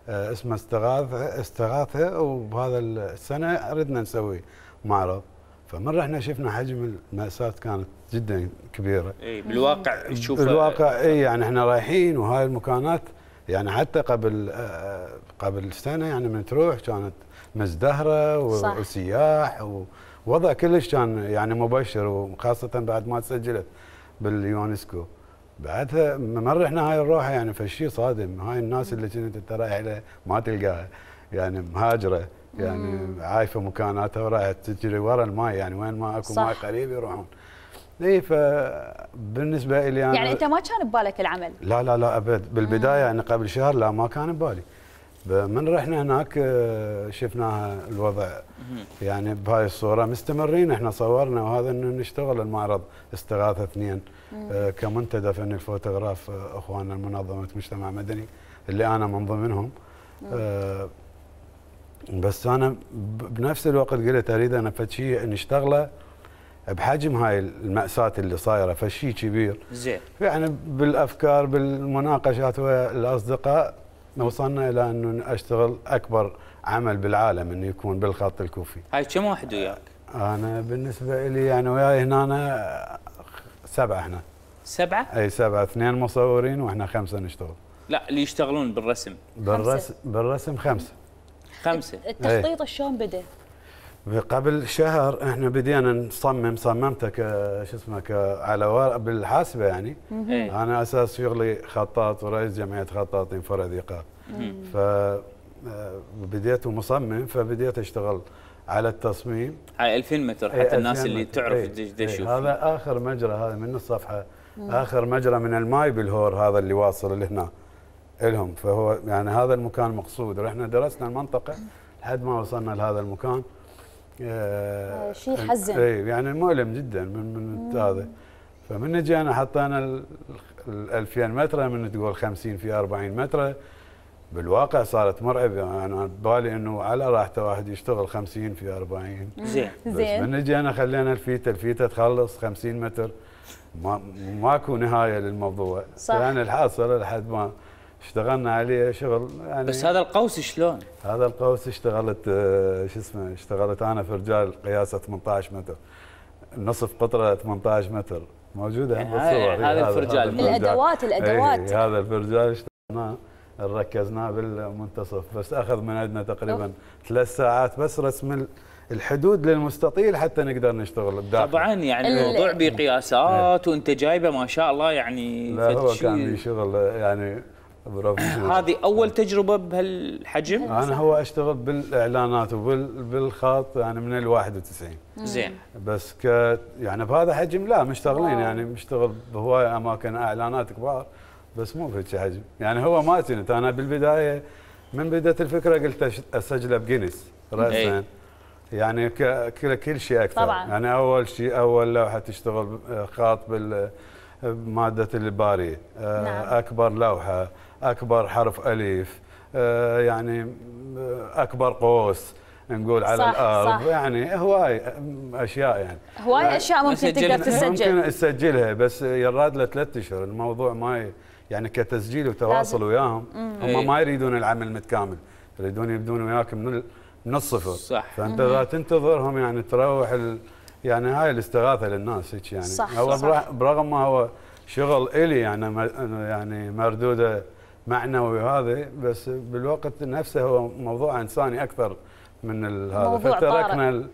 آه، اسمه استغاثه استغاثه، وبهذا السنه ردنا نسوي معرض. فمن رحنا شفنا حجم المأساة كانت جدا كبيره. اي بالواقع تشوف بالواقع اي يعني احنا رايحين وهاي المكانات يعني حتى قبل آه، قبل سنه يعني من تروح كانت مزدهره صح. وسياح ووضع كلش كان يعني مبشر، وخاصه بعد ما تسجلت باليونسكو. بعدها من رحنا هاي الروحه يعني فشي صادم. هاي الناس اللي كنت انت رايح لها ما تلقاها، يعني مهاجره يعني عايفه مكاناتها ورايحه تجري ورا الماي، يعني وين ما اكو صح. ماي قريب يروحون. اي فبالنسبه لي انا يعني انت ما كان ببالك العمل؟ لا لا لا ابد. بالبدايه يعني قبل شهر لا ما كان ببالي. من رحنا هناك آه، شفناها الوضع يعني بهاي الصوره. مستمرين احنا صورنا وهذا انه نشتغل المعرض استغاثه اثنين آه، كمنتدى فني الفوتوغراف آه، اخواننا منظمه مجتمع مدني اللي انا من ضمنهم. آه، بس انا ب- بنفس الوقت قلت اريد انا فد شيء نشتغله بحجم هاي المأساة اللي صايره، فشي كبير. زين. يعني بالافكار بالمناقشات ويا الاصدقاء وصلنا الى انه اشتغل اكبر عمل بالعالم انه يكون بالخط الكوفي. هاي كم واحد وياك؟ انا بالنسبه لي يعني وياي هنا أنا سبعه احنا. سبعه؟ اي سبعه، اثنين مصورين واحنا خمسه نشتغل. لا اللي يشتغلون بالرسم بالرسم بالرسم خمسه. خمسه. التخطيط شلون بدا؟ قبل شهر احنا بدينا نصمم. صممته ك شو اسمه ك على ورق بالحاسبه يعني. إيه. انا اساس شغلي خطاط ورئيس جمعيه خطاطين فرع ذيقات. ف آه، بديت مصمم، فبديت اشتغل على التصميم. هاي ألفين متر حتى إيه، الناس ألفين اللي متر. تعرف إيه، تدش إيه، تشوف. هذا اخر مجرى هذا من الصفحه. اخر مجرى من الماي بالهور هذا اللي واصل لهنا لهم. فهو يعني هذا المكان مقصود. رحنا درسنا المنطقه لحد ما وصلنا لهذا المكان. آه، شيء يحزن. اي يعني مؤلم جدا من من هذا. فمن جينا حطينا ال ال ألفين متر من تقول خمسين في أربعين متر. بالواقع صارت مرعبه. يعني انا ببالي انه على راحته واحد يشتغل خمسين في أربعين. زين. بس زين. من جينا خلينا الفيته الفيته تخلص خمسين متر. ما ماكو نهايه للموضوع. صح. يعني الحاصل لحد ما اشتغلنا عليه شغل يعني. بس هذا القوس شلون؟ هذا القوس اشتغلت آه، شو اسمه اشتغلت انا في رجال قياسه ثمانية عشر متر. نصف قطره ثمانية عشر متر موجوده يعني بالصور. هذا الفرجال. الادوات الادوات اي هذا الفرجال اشتغلناه ركزناه بالمنتصف. بس اخذ من عندنا تقريبا ثلاث ساعات بس رسم ال- الحدود للمستطيل حتى نقدر نشتغل بداخل. طبعا يعني ال- الموضوع بقياسات وانت جايبه ما شاء الله يعني. لا فد هو شيء. كان لي شغل يعني بروفيشنال. هذه اول تجربه بهالحجم. انا هو اشتغل بالاعلانات وبالخط يعني من ال واحد وتسعين. زين. بس ك يعني بهذا حجم لا مشتغلين يعني مشتغل بهواي اماكن اعلانات كبار بس مو بهيك حجم. يعني هو ما كنت انا بالبدايه من بدات الفكره قلت أش- اسجله بجينيس راسا. إيه. يعني ك- كل كل شيء اكثر. طبعاً. يعني اول شيء اول لوحه تشتغل آه، خاط بال مادة الباري. آه، نعم. أكبر لوحة أكبر حرف ألف آه، يعني آه، أكبر قوس نقول على صح، الأرض. صح. يعني هواي أشياء يعني هواي اشياء ممكن سجلنا- تقدر تسجل. ممكن تسجلها بس يراد له ثلاث أشهر. الموضوع ما ي- يعني كتسجيل وتواصل لازم. وياهم. إيه. هم ما يريدون العمل متكامل، يريدون يبدون وياك من ال- من الصفر. صح. فأنت إذا تنتظرهم يعني تروح ال يعني هاي الاستغاثة للناس هيك يعني. صح، هو صح. برغ- برغم ما هو شغل إلي يعني م- يعني مردوده معنوي وهذا، بس بالوقت نفسه هو موضوع انساني اكثر من ال- هذا. موضوع فتركنا ال-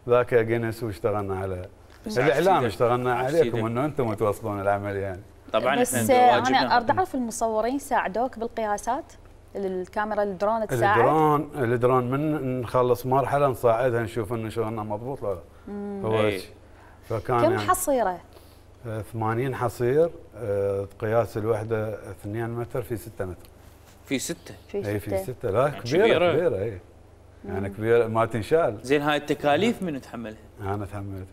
ذاك جينيس واشتغلنا على الاعلام. اشتغلنا عكس عليكم سيدك. انه انتم توصلون العمل يعني. طبعا بس احنا آه، واجبنا. انا اريد اعرف المصورين ساعدوك بالقياسات؟ الكاميرا الدرون تساعد؟ الدرون الدرون من نخلص مرحله نصعدها نشوف انه شغلنا مضبوط ولا لا. هو إيه. هيك. فكان كم يعني حصيره؟ آه، ثمانين حصير. آه، قياس الوحده اثنين متر في ستة متر. في ستة. في اي في ستة. ستة. لا يعني كبيره كبيرة. كبيره اي يعني كبيره ما تنشال. زين هاي التكاليف من تحملها؟ انا تحملت.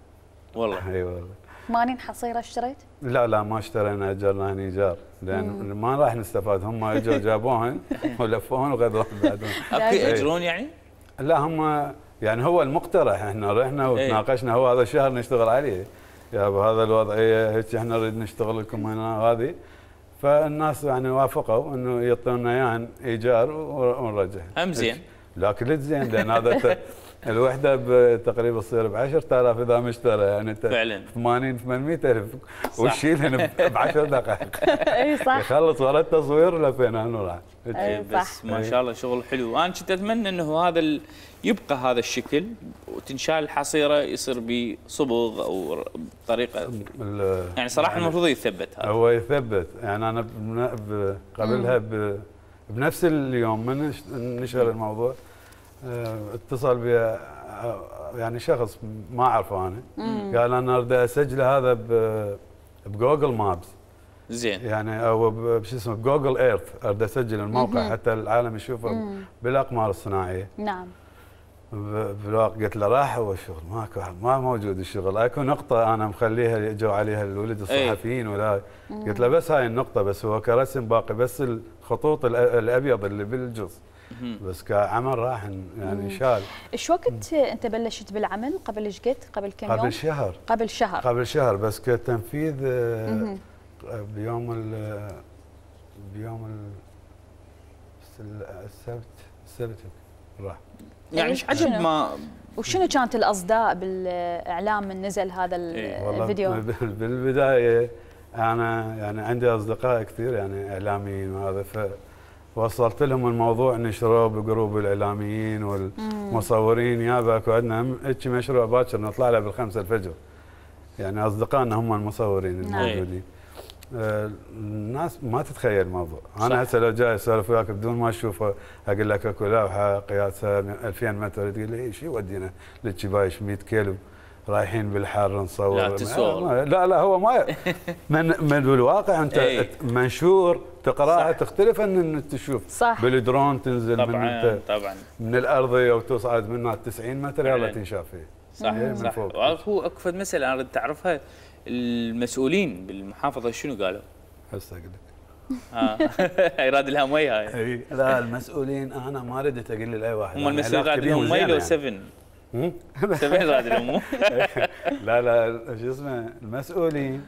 والله. اي والله. ثمانين حصيره اشتريت؟ لا لا ما اشترينا، اجرنا هني ايجار لان ما راح نستفاد. هم اجوا جابوهن ولفوهن وغدوهن بعدهم. ياجرون يعني؟ لا هم يعني هو المقترح، احنا رحنا وتناقشنا هو هذا الشهر نشتغل عليه يا بهذا الوضعيه هيك احنا نريد نشتغل لكم هنا هذه، فالناس يعني وافقوا انه يعطونا اياها ايجار ونرجعها. هم زين. لكن زين لان هذا الوحده تقريبا تصير ب عشرة آلاف اذا مشترى، يعني انت فعلا ثمانين ثمانمئة ألف وتشيلهن ب عشر دقائق. اي صح. يخلص ورا التصوير لفينا نروح. اي بس ما شاء الله شغل حلو. انا كنت اتمنى انه هذا ال... يبقى هذا الشكل وتنشال الحصيره يصير بصبغ او بطريقه يعني صراحه يعني المفروض يثبت هذا. هو يثبت يعني انا قبلها ب... بنفس اليوم من نشر الموضوع اتصل بي يعني شخص ما اعرفه انا، قال انا اريد اسجل هذا ب... بجوجل مابس. زين. يعني او بش اسمه بجوجل ايرث، اريد اسجل الموقع مم. حتى العالم يشوفه مم. بالاقمار الصناعيه. نعم. بالواقع قلت له راح هو الشغل ماكو، ما موجود الشغل، اكو نقطه انا مخليها جو عليها الولد الصحفيين ولا قلت له بس هاي النقطه بس، هو كرسم باقي بس الخطوط الابيض اللي بالجزء بس كعمل راح يعني شال. ايش وقت انت بلشت بالعمل؟ قبل ايش قد؟ قبل كم يوم؟ قبل شهر. قبل شهر. قبل شهر بس كتنفيذ بيوم ال بيوم ال السبت السبت راح. يعني ايش عجب ما وشنو كانت الاصداء بالاعلام من نزل هذا الفيديو؟ بالبدايه انا يعني عندي اصدقاء كثير يعني اعلاميين وهذا، فوصلت لهم الموضوع نشروه بجروب الاعلاميين والمصورين، يابا اكو عندنا هيك مشروع باكر نطلع له بالخمسه الفجر. يعني اصدقائنا هم المصورين الموجودين. آه الناس ما تتخيل الموضوع. انا هسه لو جاي اسولف وياك بدون ما اشوفه اقول لك اكو لوحه قياسها ألفين متر تقول لي شو يودينا للشبايش مئة كيلو رايحين بالحر نصور. لا تصور. لا لا هو ما من من بالواقع انت ايه. منشور تقراها تختلف عن ان تشوف صح. بالدرون تنزل طبعا من انت طبعا من الارضيه وتصعد منها تسعين متر يلا تنشاف فيه. صح من صح. فوق. هو اكو فد مساله انا اريد تعرفها، المسؤولين بالمحافظه شنو قالوا؟ هسه اقول لك. اه يراد لها مي هاي. اي لا المسؤولين انا ما ردت اقول لاي واحد. هم المسؤولين راد لهم مي لو سفن؟ سفن راد لهم. لا لا شو اسمه المسؤولين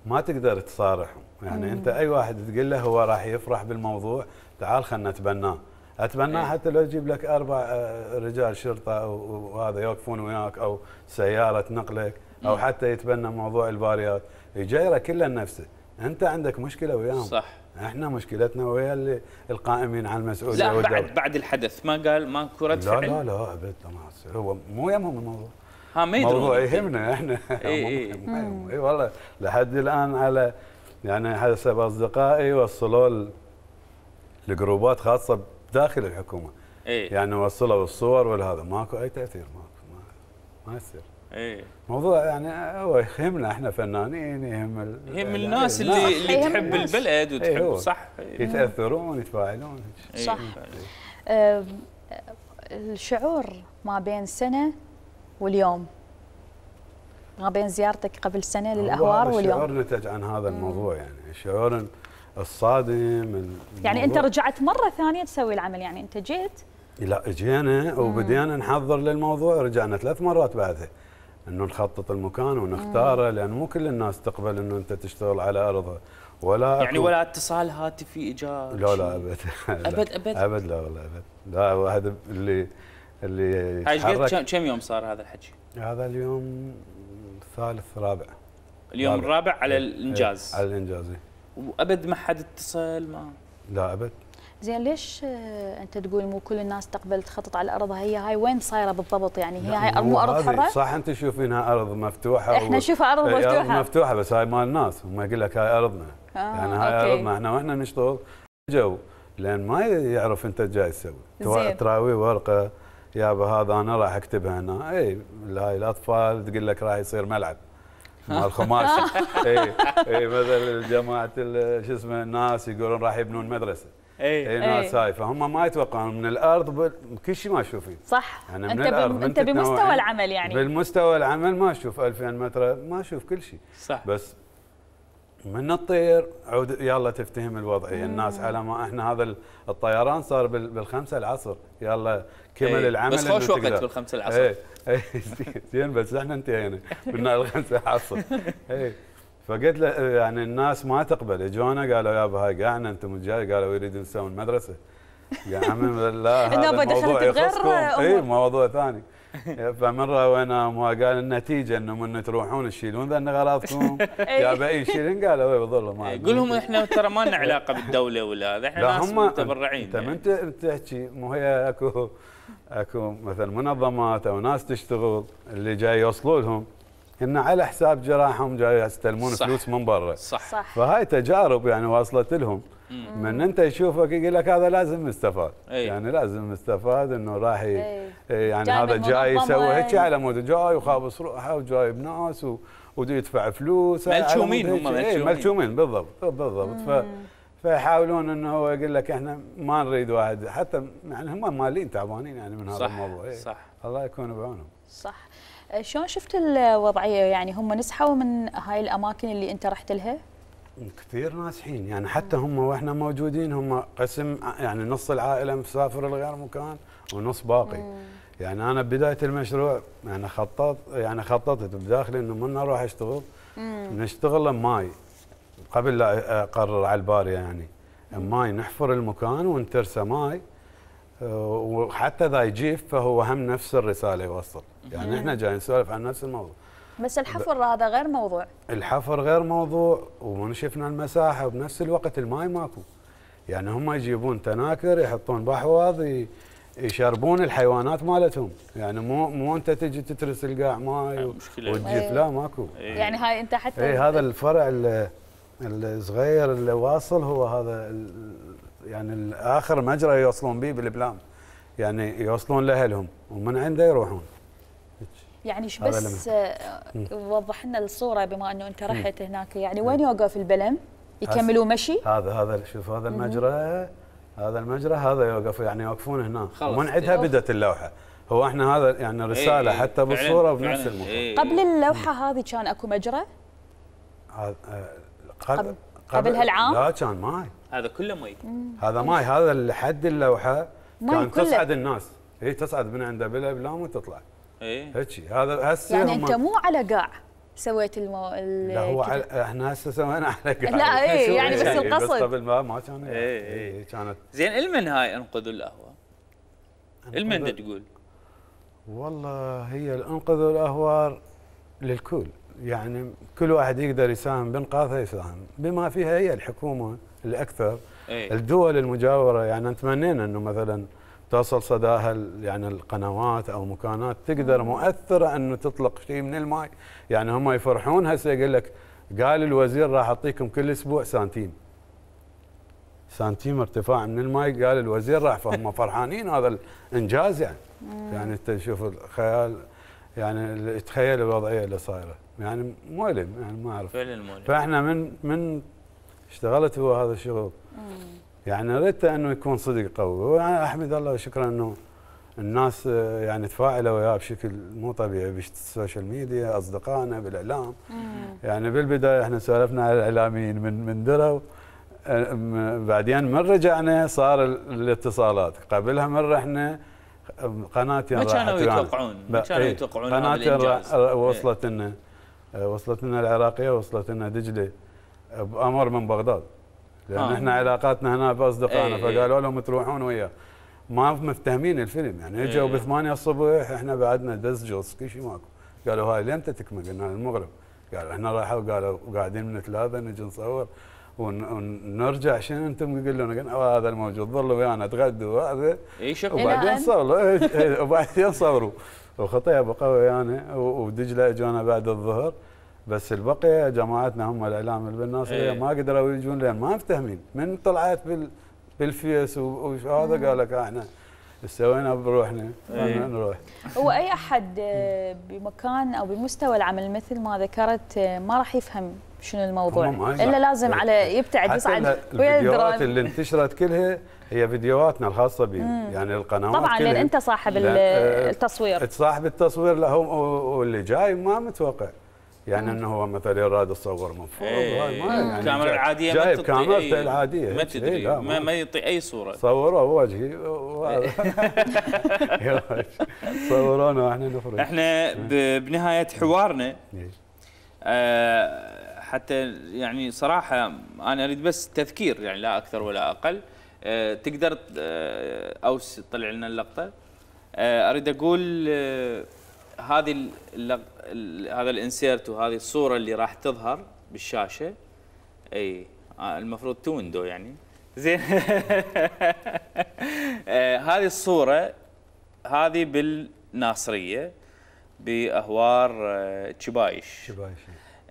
ما تقدر تصارحهم، يعني مم. انت اي واحد تقول له هو راح يفرح بالموضوع تعال خلنا نتبناه، اتبناه حتى لو يجيب لك اربع رجال شرطه وهذا يوقفون وياك او سياره تنقلك او مم. حتى يتبنى موضوع الباريات يجيره كله لنفسه. انت عندك مشكله وياهم. صح. احنا مشكلتنا ويا اللي القائمين على المسؤوليه. لا والدولة. بعد بعد الحدث ما قال ماكو رد فعل؟ لا لا لا ابد ما هو مو يهمهم الموضوع. ها ما يدرون. الموضوع يهمنا احنا. اي اي اي والله لحد الان على يعني حسب اصدقائي وصلوا الجروبات خاصه داخل الحكومه. اي يعني وصلوا الصور والهذا ماكو اي تاثير ماكو ما, ما يصير. اي موضوع يعني هو يهمنا احنا فنانين، يهم ال... يهم الناس اللي الناس. اللي تحب البلد وتحب ايه صح يتاثرون يتفاعلون. صح. أه الشعور ما بين سنه واليوم، ما بين زيارتك قبل سنه للاهوار واليوم، الشعور نتج عن هذا الموضوع. يعني الشعور الصادم يعني انت رجعت مره ثانيه تسوي العمل، يعني انت جيت لا جينا وبدينا نحضر للموضوع، رجعنا ثلاث مرات بعدها انه نخطط المكان ونختاره، لان مو كل الناس تقبل انه انت تشتغل على ارضها ولا يعني ولا اتصال هاتفي اجاك. لا لا ابد ابد ابد ابد لا والله ابد لا. واحد اللي اللي هاي قد كم يوم صار هذا الحكي؟ هذا اليوم الثالث رابع. اليوم رابع. الرابع على الانجاز. على الانجاز. وابد ما حد اتصل ما لا ابد. زين ليش انت تقول مو كل الناس تقبل تخطط على ارضها؟ هي هاي وين صايره بالضبط؟ يعني هي هاي مو ارض حره؟ صح انت تشوفينها ارض مفتوحه احنا نشوفها ارض مفتوحه. ارض مفتوحه بس هاي مال الناس، هم يقول لك هاي ارضنا. آه يعني هاي أوكي. ارضنا احنا واحنا نشتغل جو لان ما يعرف انت جاي تسوي تراوي ورقه يابا هذا انا راح اكتبها هنا. اي هاي الاطفال تقول لك راح يصير ملعب مال خماسي. اي اي مثلا جماعه شو اسمه الناس يقولون راح يبنون مدرسه. اي اي ناس هاي فهم ما يتوقعون من الارض كل شيء ما تشوفين. صح. يعني من انت الارض انت بمستوى العمل يعني بالمستوى العمل ما اشوف ألفين متر ما اشوف كل شيء. صح. بس من الطير عود يلا تفتهم الوضعيه. الناس على ما احنا هذا الطيران صار بالخمسة العصر يلا كمل ايه العمل. بس خوش وقت بالخمسة العصر. ايه ايه زين بس احنا انتهينا قلنا الخمسة العصر. ايه فقلت له يعني الناس ما تقبل اجونا قالوا يابا هاي قاعنا انتم الجاي قالوا يريدون يسوون مدرسه. يا عمي لا هذا الموضوع يخصكم. اي موضوع ثاني. فمره وانا ما قال النتيجه انه من تروحون تشيلون ذن اغراضكم يا باقي شيلين قالوا اي والله ما قول لهم احنا ترى ما لنا علاقه بالدوله ولا هذا احنا ناس متبرعين. انت من يعني. تحكي مو هي اكو اكو مثلا منظمات او ناس تشتغل اللي جاي يوصلوا لهم ان على حساب جراحهم جاي يستلمون فلوس من برا. صح. صح. فهاي تجارب يعني واصلت لهم. مم. من انت يشوفك يقول لك هذا لازم يستفاد. أي. يعني لازم يستفاد انه راح يعني هذا جاي يسوي هيك على مود جاي وخابص روحه وجايب ناس وده يدفع فلوس. ملشومين هم ملشومين. ملشومين بالضبط بالضبط. ف فيحاولون انه هو يقول لك احنا ما نريد واحد حتى يعني هم مالين تعبانين يعني من هذا صح. الموضوع. إيه. صح. الله يكون بعونهم. صح. شلون شفت الوضعيه يعني هم نسحوا من هاي الاماكن اللي انت رحت لها؟ كثير ناجحين يعني حتى هم واحنا موجودين هم قسم يعني نص العائله مسافر لغير مكان ونص باقي. مم. يعني انا بدايه المشروع يعني خططت يعني خططت بداخلي انه من اروح اشتغل مم. نشتغل ماي قبل لا اقرر على الباريه يعني ماي نحفر المكان ونترسه ماي وحتى اذا يجيف فهو هم نفس الرساله يوصل. يعني احنا جايين نسولف عن نفس الموضوع. بس الحفر هذا غير موضوع. الحفر غير موضوع ومن شفنا المساحه وبنفس الوقت الماي ماكو. يعني هم يجيبون تناكر يحطون بحواض يشربون الحيوانات مالتهم. يعني مو مو انت تجي تترس القاع ماي وتجيف لا ماكو. يعني هاي انت حتى اي هذا الفرع الصغير اللي واصل هو هذا يعني اخر مجرى يوصلون به بالبلام. يعني يوصلون لاهلهم ومن عنده يروحون. يعني ايش بس وضح لنا الصوره بما انه انت رحت هناك يعني وين يوقف البلم؟ يكملوا مشي؟ هذا هذا شوف هذا المجرى هذا المجرى هذا يوقف يعني يوقفون هنا ومن عندها بدت اللوحه. هو احنا هذا يعني رساله ايه حتى بالصوره وبنفس المكان. ايه قبل اللوحه هذه كان اكو مجرى؟ قبل قبل هالعام؟ لا كان ماي. هذا كله ماي. هذا ماي هذا لحد اللوحه كان تصعد الناس. هي تصعد من عنده بالابلام وتطلع. ايه هيك هذا هسه يعني انت مو على قاع سويت المو... لا هو على احنا هسه سوينا على قاع. لا ايه يعني بس القصد بس قبل ما ما كان ايه ايه كانت زين. المن هاي انقذوا القهوه؟ المن تقول؟ والله هي الانقذوا الاهوار للكل يعني كل واحد يقدر يساهم بانقاذها يساهم بما فيها هي الحكومه الاكثر. ايه. الدول المجاوره يعني نتمنينا انه مثلا توصل صداها يعني القنوات او مكانات تقدر مؤثره انه تطلق شيء من الماء. يعني هم يفرحون هسه يقول لك قال الوزير راح اعطيكم كل اسبوع سنتيم سنتيم ارتفاع من الماء قال الوزير راح فهم فرحانين. هذا الانجاز يعني. يعني انت تشوف الخيال يعني تخيل الوضعيه اللي صايره يعني مؤلم يعني ما اعرف فعلا مؤلم. فاحنا من من اشتغلت هو هذا الشغل يعني ردت انه يكون صدق قوي. وانا احمد الله وشكرا انه الناس يعني تفاعلوا وياه بشكل مو طبيعي بالسوشيال ميديا اصدقائنا بالاعلام. يعني بالبدايه احنا سولفنا على الاعلاميين من من دروا بعدين من رجعنا صار الاتصالات قبلها من رحنا قناه ما كانوا يتوقعون ما كانوا يتوقعون قناه وصلت لنا وصلت لنا العراقيه وصلت لنا دجله بامر من بغداد لان آه. احنا علاقاتنا هنا باصدقائنا ايه فقالوا لهم تروحون وياه ما مفتهمين الفيلم يعني اجوا ايه بثمانية الصبح احنا بعدنا دز جوز كل شيء ماكو. قالوا هاي لمتى تكمل؟ قلنا المغرب. قالوا احنا رايحوا قالوا قاعدين من ثلاثه نجي نصور ونرجع شنو انتم تقولون؟ قلنا هذا الموجود ظلوا ويانا تغدوا هذا اي شوف وبعدين صوروا وبعدين صوروا وخطيه بقوا ويانا ودجله اجونا بعد الظهر. بس البقيه جماعتنا هم الاعلام اللي بالناصريه ما قدروا يجون لان ما مفتهمين. من طلعت بال بالفيس وهذا قال لك احنا سوينا بروحنا نروح. هو اي احد بمكان او بمستوى العمل مثل ما ذكرت ما راح يفهم شنو الموضوع هم ما الا يصح. لازم على يبتعد حتى يصعد ويا الفيديوهات الدرون. اللي انتشرت كلها هي فيديوهاتنا الخاصه بي يعني القنوات طبعا لان انت صاحب التصوير. صاحب التصوير لا هو واللي جاي ما متوقع يعني انه هو مثلا يراد يصور من فوق. ايه ما يعني الكاميرا العاديه جايب ما كاميرته العاديه ما تدري لا ما, ما يعطي اي صوره. صوروا وجهي صورونا واحنا نفرج. احنا بنهايه حوارنا أه حتى يعني صراحه انا اريد بس تذكير يعني لا اكثر ولا اقل. أه تقدر أه اوس طلع لنا اللقطه. أه اريد اقول أه هذه هذا الانسيرت وهذه الصوره اللي راح تظهر بالشاشه اي المفروض تو ويندو يعني زين. آه هذه الصوره هذه بالناصريه باهوار آه تشبايش. تشبايش.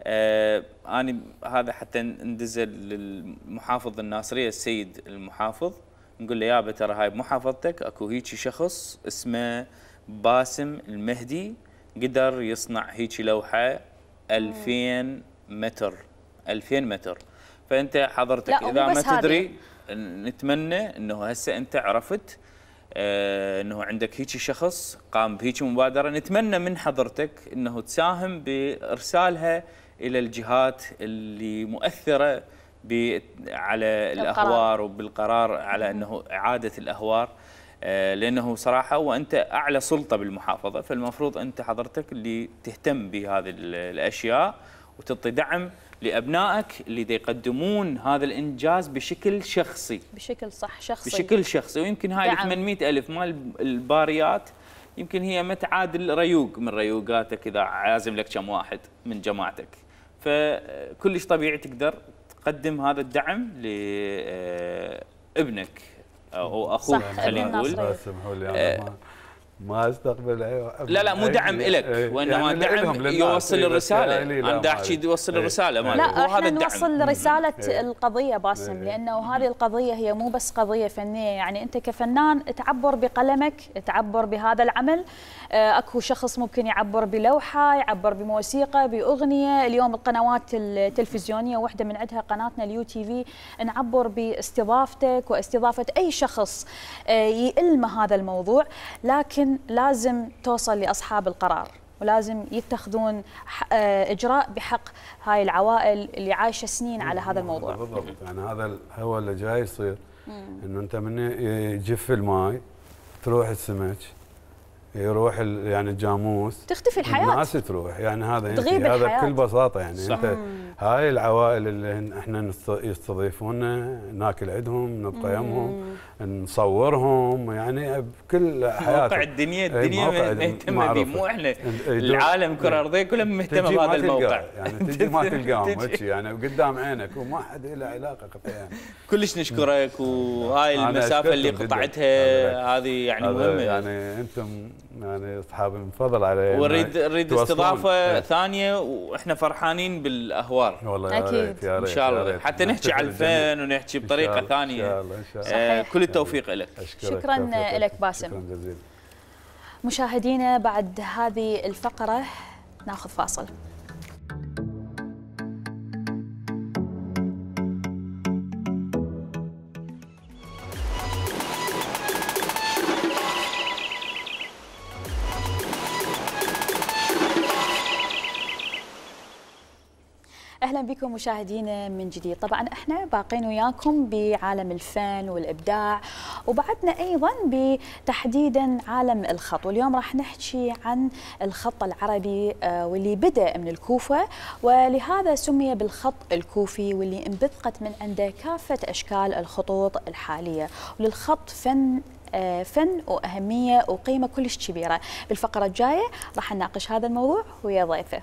آه انا هذا حتى ندزل للمحافظ الناصريه السيد المحافظ نقول له يابا ترى هاي بمحافظتك اكو هيجي شخص اسمه باسم المهدي قدر يصنع هيجي لوحه ألفين متر ألفين متر. فانت حضرتك اذا ما تدري نتمنى انه هسه انت عرفت آه انه عندك هيجي شخص قام بهيجي مبادره. نتمنى من حضرتك انه تساهم بارسالها الى الجهات اللي مؤثره على الاهوار وبالقرار على انه اعاده الاهوار. آه لانه صراحه وانت اعلى سلطه بالمحافظه فالمفروض انت حضرتك اللي تهتم بهذه الاشياء وتعطي دعم لابنائك اللي دي يقدمون هذا الانجاز بشكل شخصي. بشكل صح شخصي. بشكل شخصي ويمكن هاي ثمانمئة ألف مال الباريات يمكن هي ما تعادل ريوق من ريوقاتك اذا عازم لك كم واحد من جماعتك. فكلش طبيعي تقدر تقدم هذا الدعم لابنك او اخوك خلينا نقول. سمحوا لي انا ما ما استقبل لا لا مو دعم لك وانما يعني دعم يوصل الرساله. انا دا احكي يوصل الرساله مالك. لا احنا نوصل رساله القضيه باسم لانه هذه القضيه هي مو بس قضيه فنيه يعني انت كفنان تعبر بقلمك تعبر بهذا العمل. اكو شخص ممكن يعبر بلوحه يعبر بموسيقى باغنيه. اليوم القنوات التلفزيونيه واحده من عندها قناتنا اليو تي في نعبر باستضافتك واستضافه اي شخص يلمه هذا الموضوع لكن لازم توصل لاصحاب القرار ولازم يتخذون اجراء بحق هاي العوائل اللي عايشه سنين على هذا الموضوع. بالضبط يعني هذا هو اللي جاي يصير انه انت من يجف الماي تروح السمك يروح يعني الجاموس تختفي الحياه الناس تروح يعني هذا يعني هذا بكل بساطه يعني صح. انت هاي العوائل اللي احنا يستضيفونا ناكل عندهم نطيمهم نصورهم يعني بكل حياتهم. موقع الدنيا الدنيا مهتمه به مو احنا العالم كره ارضيه كلها مهتمه بهذا الموقع يعني تجي ما تلقاهم يعني قدام عينك وما حد له علاقه يعني. كلش نشكرك وهاي المسافه اللي قطعتها هذه يعني مهمه يعني انتم يعني اصحاب من فضل علي ونريد نريد استضافه ثانيه واحنا فرحانين بالاهوار والله اكيد ان شاء الله حتى نحكي على الفن ونحكي بطريقه ثانيه ان شاء الله ان شاء الله. كل التوفيق لك. شكرا لك باسم. شكرا جزيلا. مشاهدينا بعد هذه الفقره ناخذ فاصل. اهلا بكم مشاهدينا من جديد. طبعا احنا باقين وياكم بعالم الفن والابداع وبعدنا ايضا بتحديدا عالم الخط واليوم راح نحكي عن الخط العربي واللي بدا من الكوفه ولهذا سمي بالخط الكوفي واللي انبثقت من عنده كافه اشكال الخطوط الحاليه وللخط فن فن واهميه وقيمه كلش كبيره. بالفقره الجايه راح نناقش هذا الموضوع ويا ضيفه.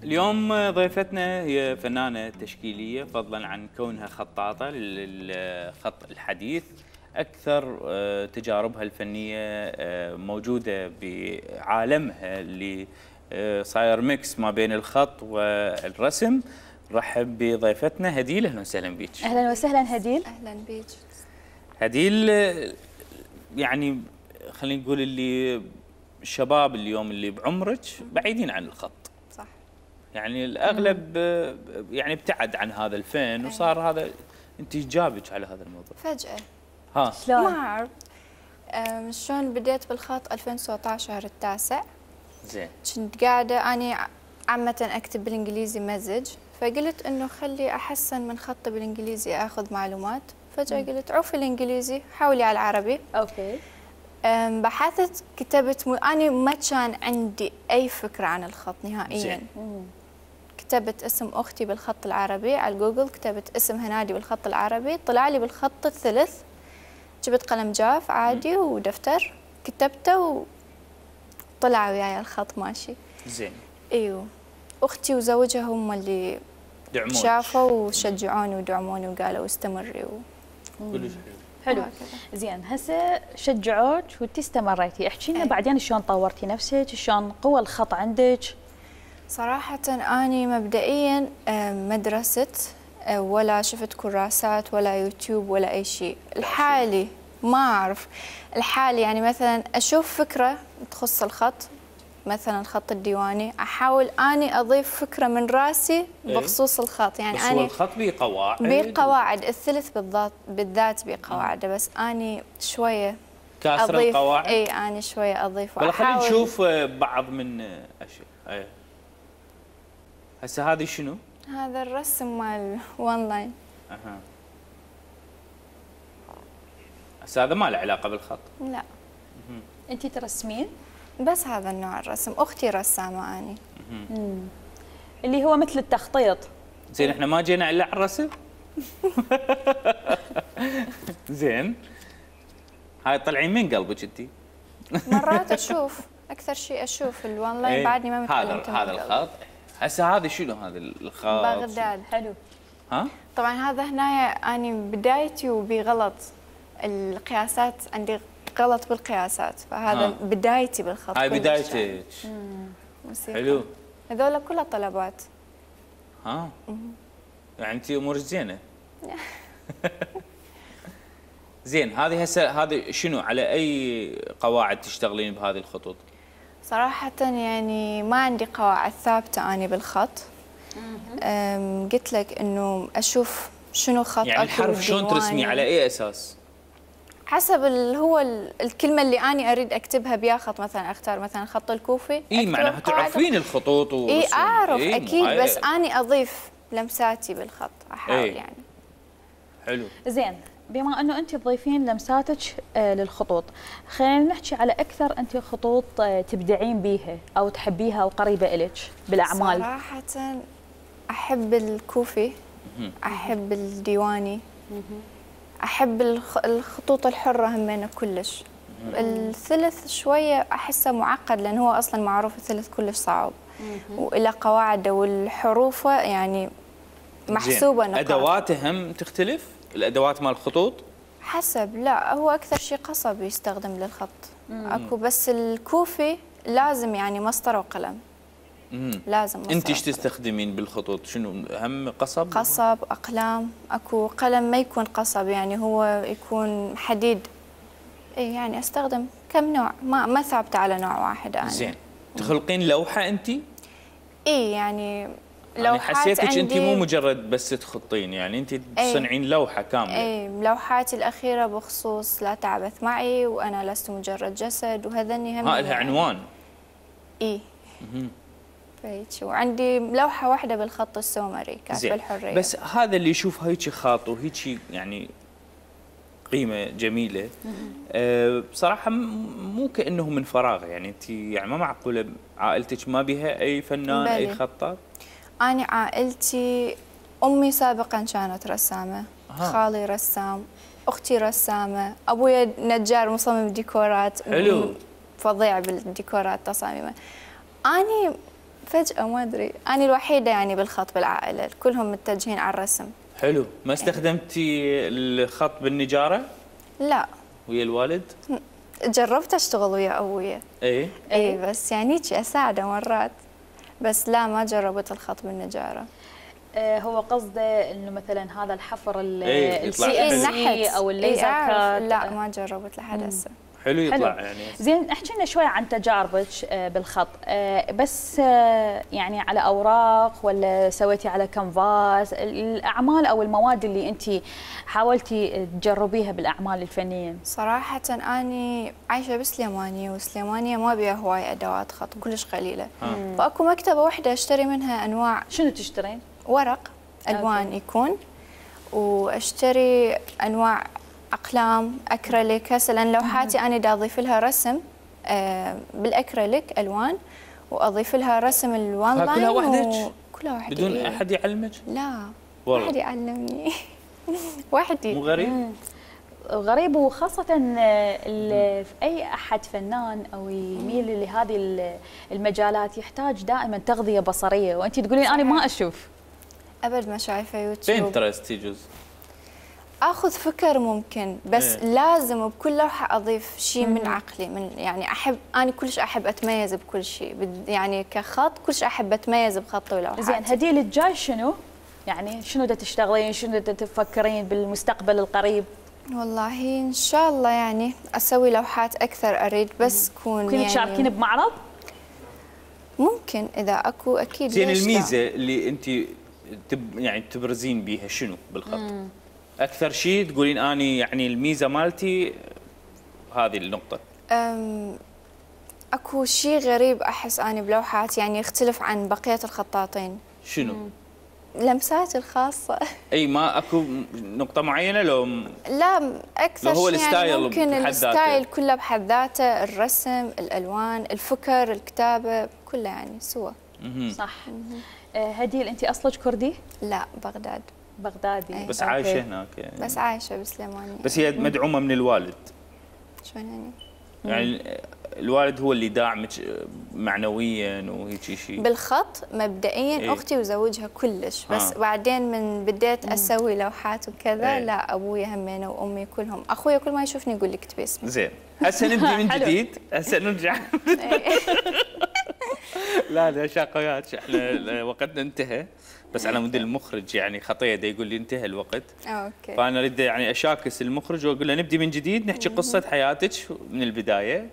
اليوم ضيفتنا هي فنانة تشكيلية فضلا عن كونها خطاطة للخط الحديث. أكثر تجاربها الفنية موجودة بعالمها اللي صاير ميكس ما بين الخط والرسم. رحب بضيفتنا هديل. أهلا وسهلا بك. أهلا وسهلا هديل. أهلا بك. هديل يعني خلينا نقول اللي الشباب اليوم اللي بعمرك بعيدين عن الخط. صح. يعني الاغلب يعني ابتعد عن هذا الفن وصار هذا. انت ايش جابك على هذا الموضوع؟ فجأة. ها شلون؟ ما اعرف. شلون بديت بالخط ألفين وتسعة عشر شهر التاسع. زين. كنت قاعدة اني عامة اكتب بالانجليزي مزج، فقلت انه خلي احسن من خطي بالانجليزي اخذ معلومات، فجأة مم. قلت عوفي الانجليزي حاولي على العربي. اوكي. بحثت كتبت م... أنا ما كان عندي أي فكرة عن الخط نهائياً. كتبت اسم أختي بالخط العربي على جوجل، كتبت اسم هنادي بالخط العربي، طلع لي بالخط الثلث. جبت قلم جاف عادي ودفتر كتبته وطلع وياي الخط ماشي. زين. ايوه. أختي وزوجها هم اللي دعموني شافوا وشجعوني ودعموني وقالوا استمري و... كلش حلو. حلو. زين هسه شجعوك وانتي استمريتي، احكي لنا بعدين شلون طورتي نفسك، شلون قوى الخط عندك؟ صراحة أني مبدئيا ما درست ولا شفت كراسات ولا يوتيوب ولا أي شيء، الحالي ما أعرف الحالي يعني مثلا أشوف فكرة تخص الخط، مثلا الخط الديواني، احاول اني اضيف فكره من راسي بخصوص الخط، يعني بس اني هو الخط بيه قواعد بيه قواعد الثلث بالذات بالذات بيه قواعده، بس اني شويه كاسر أضيف القواعد. اي اني شويه اضيف ولا خلينا نشوف بعض من اشياء. اي هسه هذه شنو؟ هذا الرسم مال وان لاين. اها هسه هذا ما له علاقه بالخط؟ لا. انت ترسمين؟ بس هذا النوع الرسم، اختي رسامه اني. امم اللي هو مثل التخطيط. زين احنا ما جينا الا على الرسم. زين هاي طلعين من قلبك انت؟ مرات اشوف، اكثر شيء اشوف الوان لاين. ايه بعدني ما متعلمت هذا هذا الخط. هسه هذا شنو هذا الخط؟ بغداد. حلو. ها؟ طبعا هذا هنا اني بدايتي وبغلط القياسات، عندي غلط بالقياسات، فهذا ها. بدايتي بالخط. هاي بدايتك. حلو. هذول كلها طلبات. ها يعني انت امورك زينه. زين هذه هسه هذه شنو على اي قواعد تشتغلين بهذه الخطوط؟ صراحه يعني ما عندي قواعد ثابته اني بالخط. قلت لك انه اشوف شنو خط يعني الحرف شلون ترسمي على اي اساس؟ حسب اللي هو الكلمه اللي اني اريد اكتبها بيا خط، مثلا اختار مثلا خط الكوفي. اي معناها تعرفين الخطوط و اي اعرف إيه اكيد، بس اني اضيف لمساتي بالخط، احاول إيه؟ يعني. حلو. زين بما انه انت تضيفين لمساتك آه للخطوط، خلينا نحكي على اكثر انت خطوط آه تبدعين بيها او تحبيها وقريبه الك بالاعمال. صراحه احب الكوفي، احب الديواني، احب الخطوط الحره همينه كلش. الثلث شويه احسه معقد لان هو اصلا معروف الثلث كلش صعب والى قواعده والحروفه يعني محسوبه نقاط. ادواته هم تختلف؟ الادوات مال الخطوط حسب، لا هو اكثر شيء قصب يستخدم للخط. مم. اكو بس الكوفي لازم يعني مسطره وقلم. امم لازم مسطره. انت ايش تستخدمين بالخطوط؟ شنو هم قصب؟ قصب، اقلام، اكو قلم ما يكون قصب يعني هو يكون حديد. اي يعني استخدم كم نوع، ما ما ثابته على نوع واحد انا. زين تخلقين لوحه انت؟ اي يعني يعني حسيتك انت مو مجرد بس تخطين، يعني انت تصنعين لوحه كامله. اي لوحاتي الاخيره بخصوص لا تعبث معي وانا لست مجرد جسد وهذني هم. ها لها يعني عنوان؟ اي فهيك. وعندي لوحه واحده بالخط السومري كاتبه الحريه. بس هذا اللي يشوف هيك خاط وهيك يعني قيمه جميله أه بصراحه مو كانه من فراغ، يعني انت يعني ما معقوله عائلتك ما بها اي فنان بلي. اي خطاط؟ أنا عائلتي أمي سابقا كانت رسامة، ها. خالي رسام، أختي رسامة، أبويا نجار مصمم ديكورات. حلو. فظيع بالديكورات تصاميمه. أنا فجأة ما أدري، أنا الوحيدة يعني بالخط بالعائلة، كلهم متجهين على الرسم. حلو. ما استخدمتي الخط بالنجارة؟ لا. ويا الوالد؟ جربت أشتغل ويا أبويا. إيه؟ إيه بس يعني أساعده مرات. بس لا ما جربت الخط بالنجارة. آه هو قصده انه مثلا هذا الحفر ايه السي ان سي او الليزر ايه كات. لا ما جربت لحد هسه. حلو يطلع حلو. يعني زين احكي لنا شوي عن تجاربك بالخط، بس يعني على اوراق ولا سويتي على كانفاس؟ الاعمال او المواد اللي انت حاولتي تجربيها بالاعمال الفنيه؟ صراحه اني عايشه بسليمانيه، وسليمانيه ما بيها هواي ادوات خط، كلش قليله. آه. فاكو مكتبه واحده اشتري منها انواع. شنو تشترين؟ ورق الوان أوكي. يكون، واشتري انواع اقلام اكريليك. هسه لان لوحاتي انا دا اضيف لها رسم آه بالاكريليك الوان، واضيف لها رسم الوان لاين. كلها وحدك؟ كلها وحدي بدون إيه؟ احد يعلمك؟ لا والله واحد يعلمني. وحدي. مو غريب؟ غريب، وخاصة أي أحد فنان أو يميل لهذه المجالات يحتاج دائما تغذية بصرية، وأنت تقولين أنا ما أشوف. أبد ما شايفة يوتيوب. بنترست يجوز اخذ فكر ممكن، بس ايه. لازم بكل لوحه اضيف شيء من عقلي، من يعني احب انا كلش احب اتميز بكل شيء، يعني كخط كلش احب اتميز بخطي ولوحاتي. زين هديل الجاي شنو؟ يعني شنو دا تشتغلين، شنو دا تفكرين بالمستقبل القريب؟ والله ان شاء الله يعني اسوي لوحات اكثر، اريد بس تكون ممكن يعني تشاركين بمعرض؟ ممكن اذا اكو اكيد. زين الميزه اللي انت تب يعني تبرزين بيها شنو بالخط؟ مم. اكثر شيء تقولين اني يعني الميزه مالتي هذه النقطه. أم اكو شيء غريب احس اني بلوحات يعني يختلف عن بقيه الخطاطين. شنو؟ مم. لمساتي الخاصه. اي ما اكو نقطه معينه لو م... لا اكثر لو هو شيء يعني ممكن الستايل كله بحد ذاته، الرسم، الالوان، الفكر، الكتابه، كله يعني سوا. صح. هديل انت اصلك كردي؟ لا بغداد. بغدادي بس أوكي. عايشه هناك يعني. بس عايشه بسليمانيه. بس هي مدعومه من الوالد. شلون يعني؟ يعني الوالد هو اللي داعمك معنويا وهيك شيء؟ بالخط مبدئيا إيه؟ اختي وزوجها كلش، بس آه. بعدين من بديت اسوي لوحات وكذا إيه؟ لا ابوي همينه وامي كلهم، اخويا كل ما يشوفني يقول لي اكتبي اسمي. زين هسه نبدي من جديد، هسه نرجع. لا لا شاقيات، احنا وقتنا انتهى، بس على مود المخرج يعني خطيه دا يقول لي انتهى الوقت. اوكي. فانا اريد يعني اشاكس المخرج واقول له نبدي من جديد، نحكي قصه حياتك من البدايه.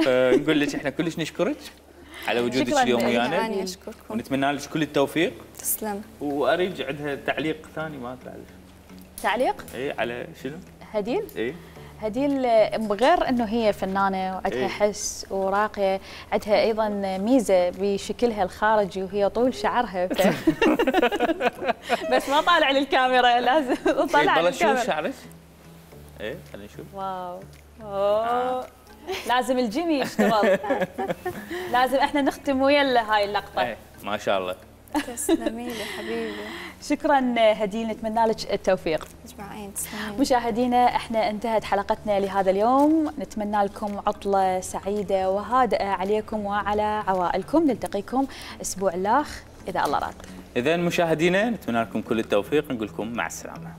فنقول لك احنا كلش نشكرك على وجودك اليوم ويانا. انا اشكركم ونتمنى لك كل التوفيق. تسلم. واريد عندها تعليق ثاني ما طلع لك. تعليق؟ اي على شنو؟ هديل؟ اي هديل غير انه هي فنانه وعندها إيه؟ حس وراقيه، عندها ايضا ميزه بشكلها الخارجي وهي طول شعرها. ف... بس ما طالع للكاميرا، لازم طالع للكاميرا. شوف شعرك. ايه خلينا نشوف. واو اوه لازم الجيمي يشتغل. لازم احنا نختم ويا هاي اللقطه. ايه ما شاء الله. تسلمي لي حبيبي. شكرا هديل، نتمنى لك التوفيق. اجمعين تسلمين. مشاهدينا احنا انتهت حلقتنا لهذا اليوم، نتمنى لكم عطله سعيده وهادئه عليكم وعلى عوائلكم، نلتقيكم اسبوع الاخ اذا الله راد. اذا مشاهدينا نتمنى لكم كل التوفيق، نقول لكم مع السلامه.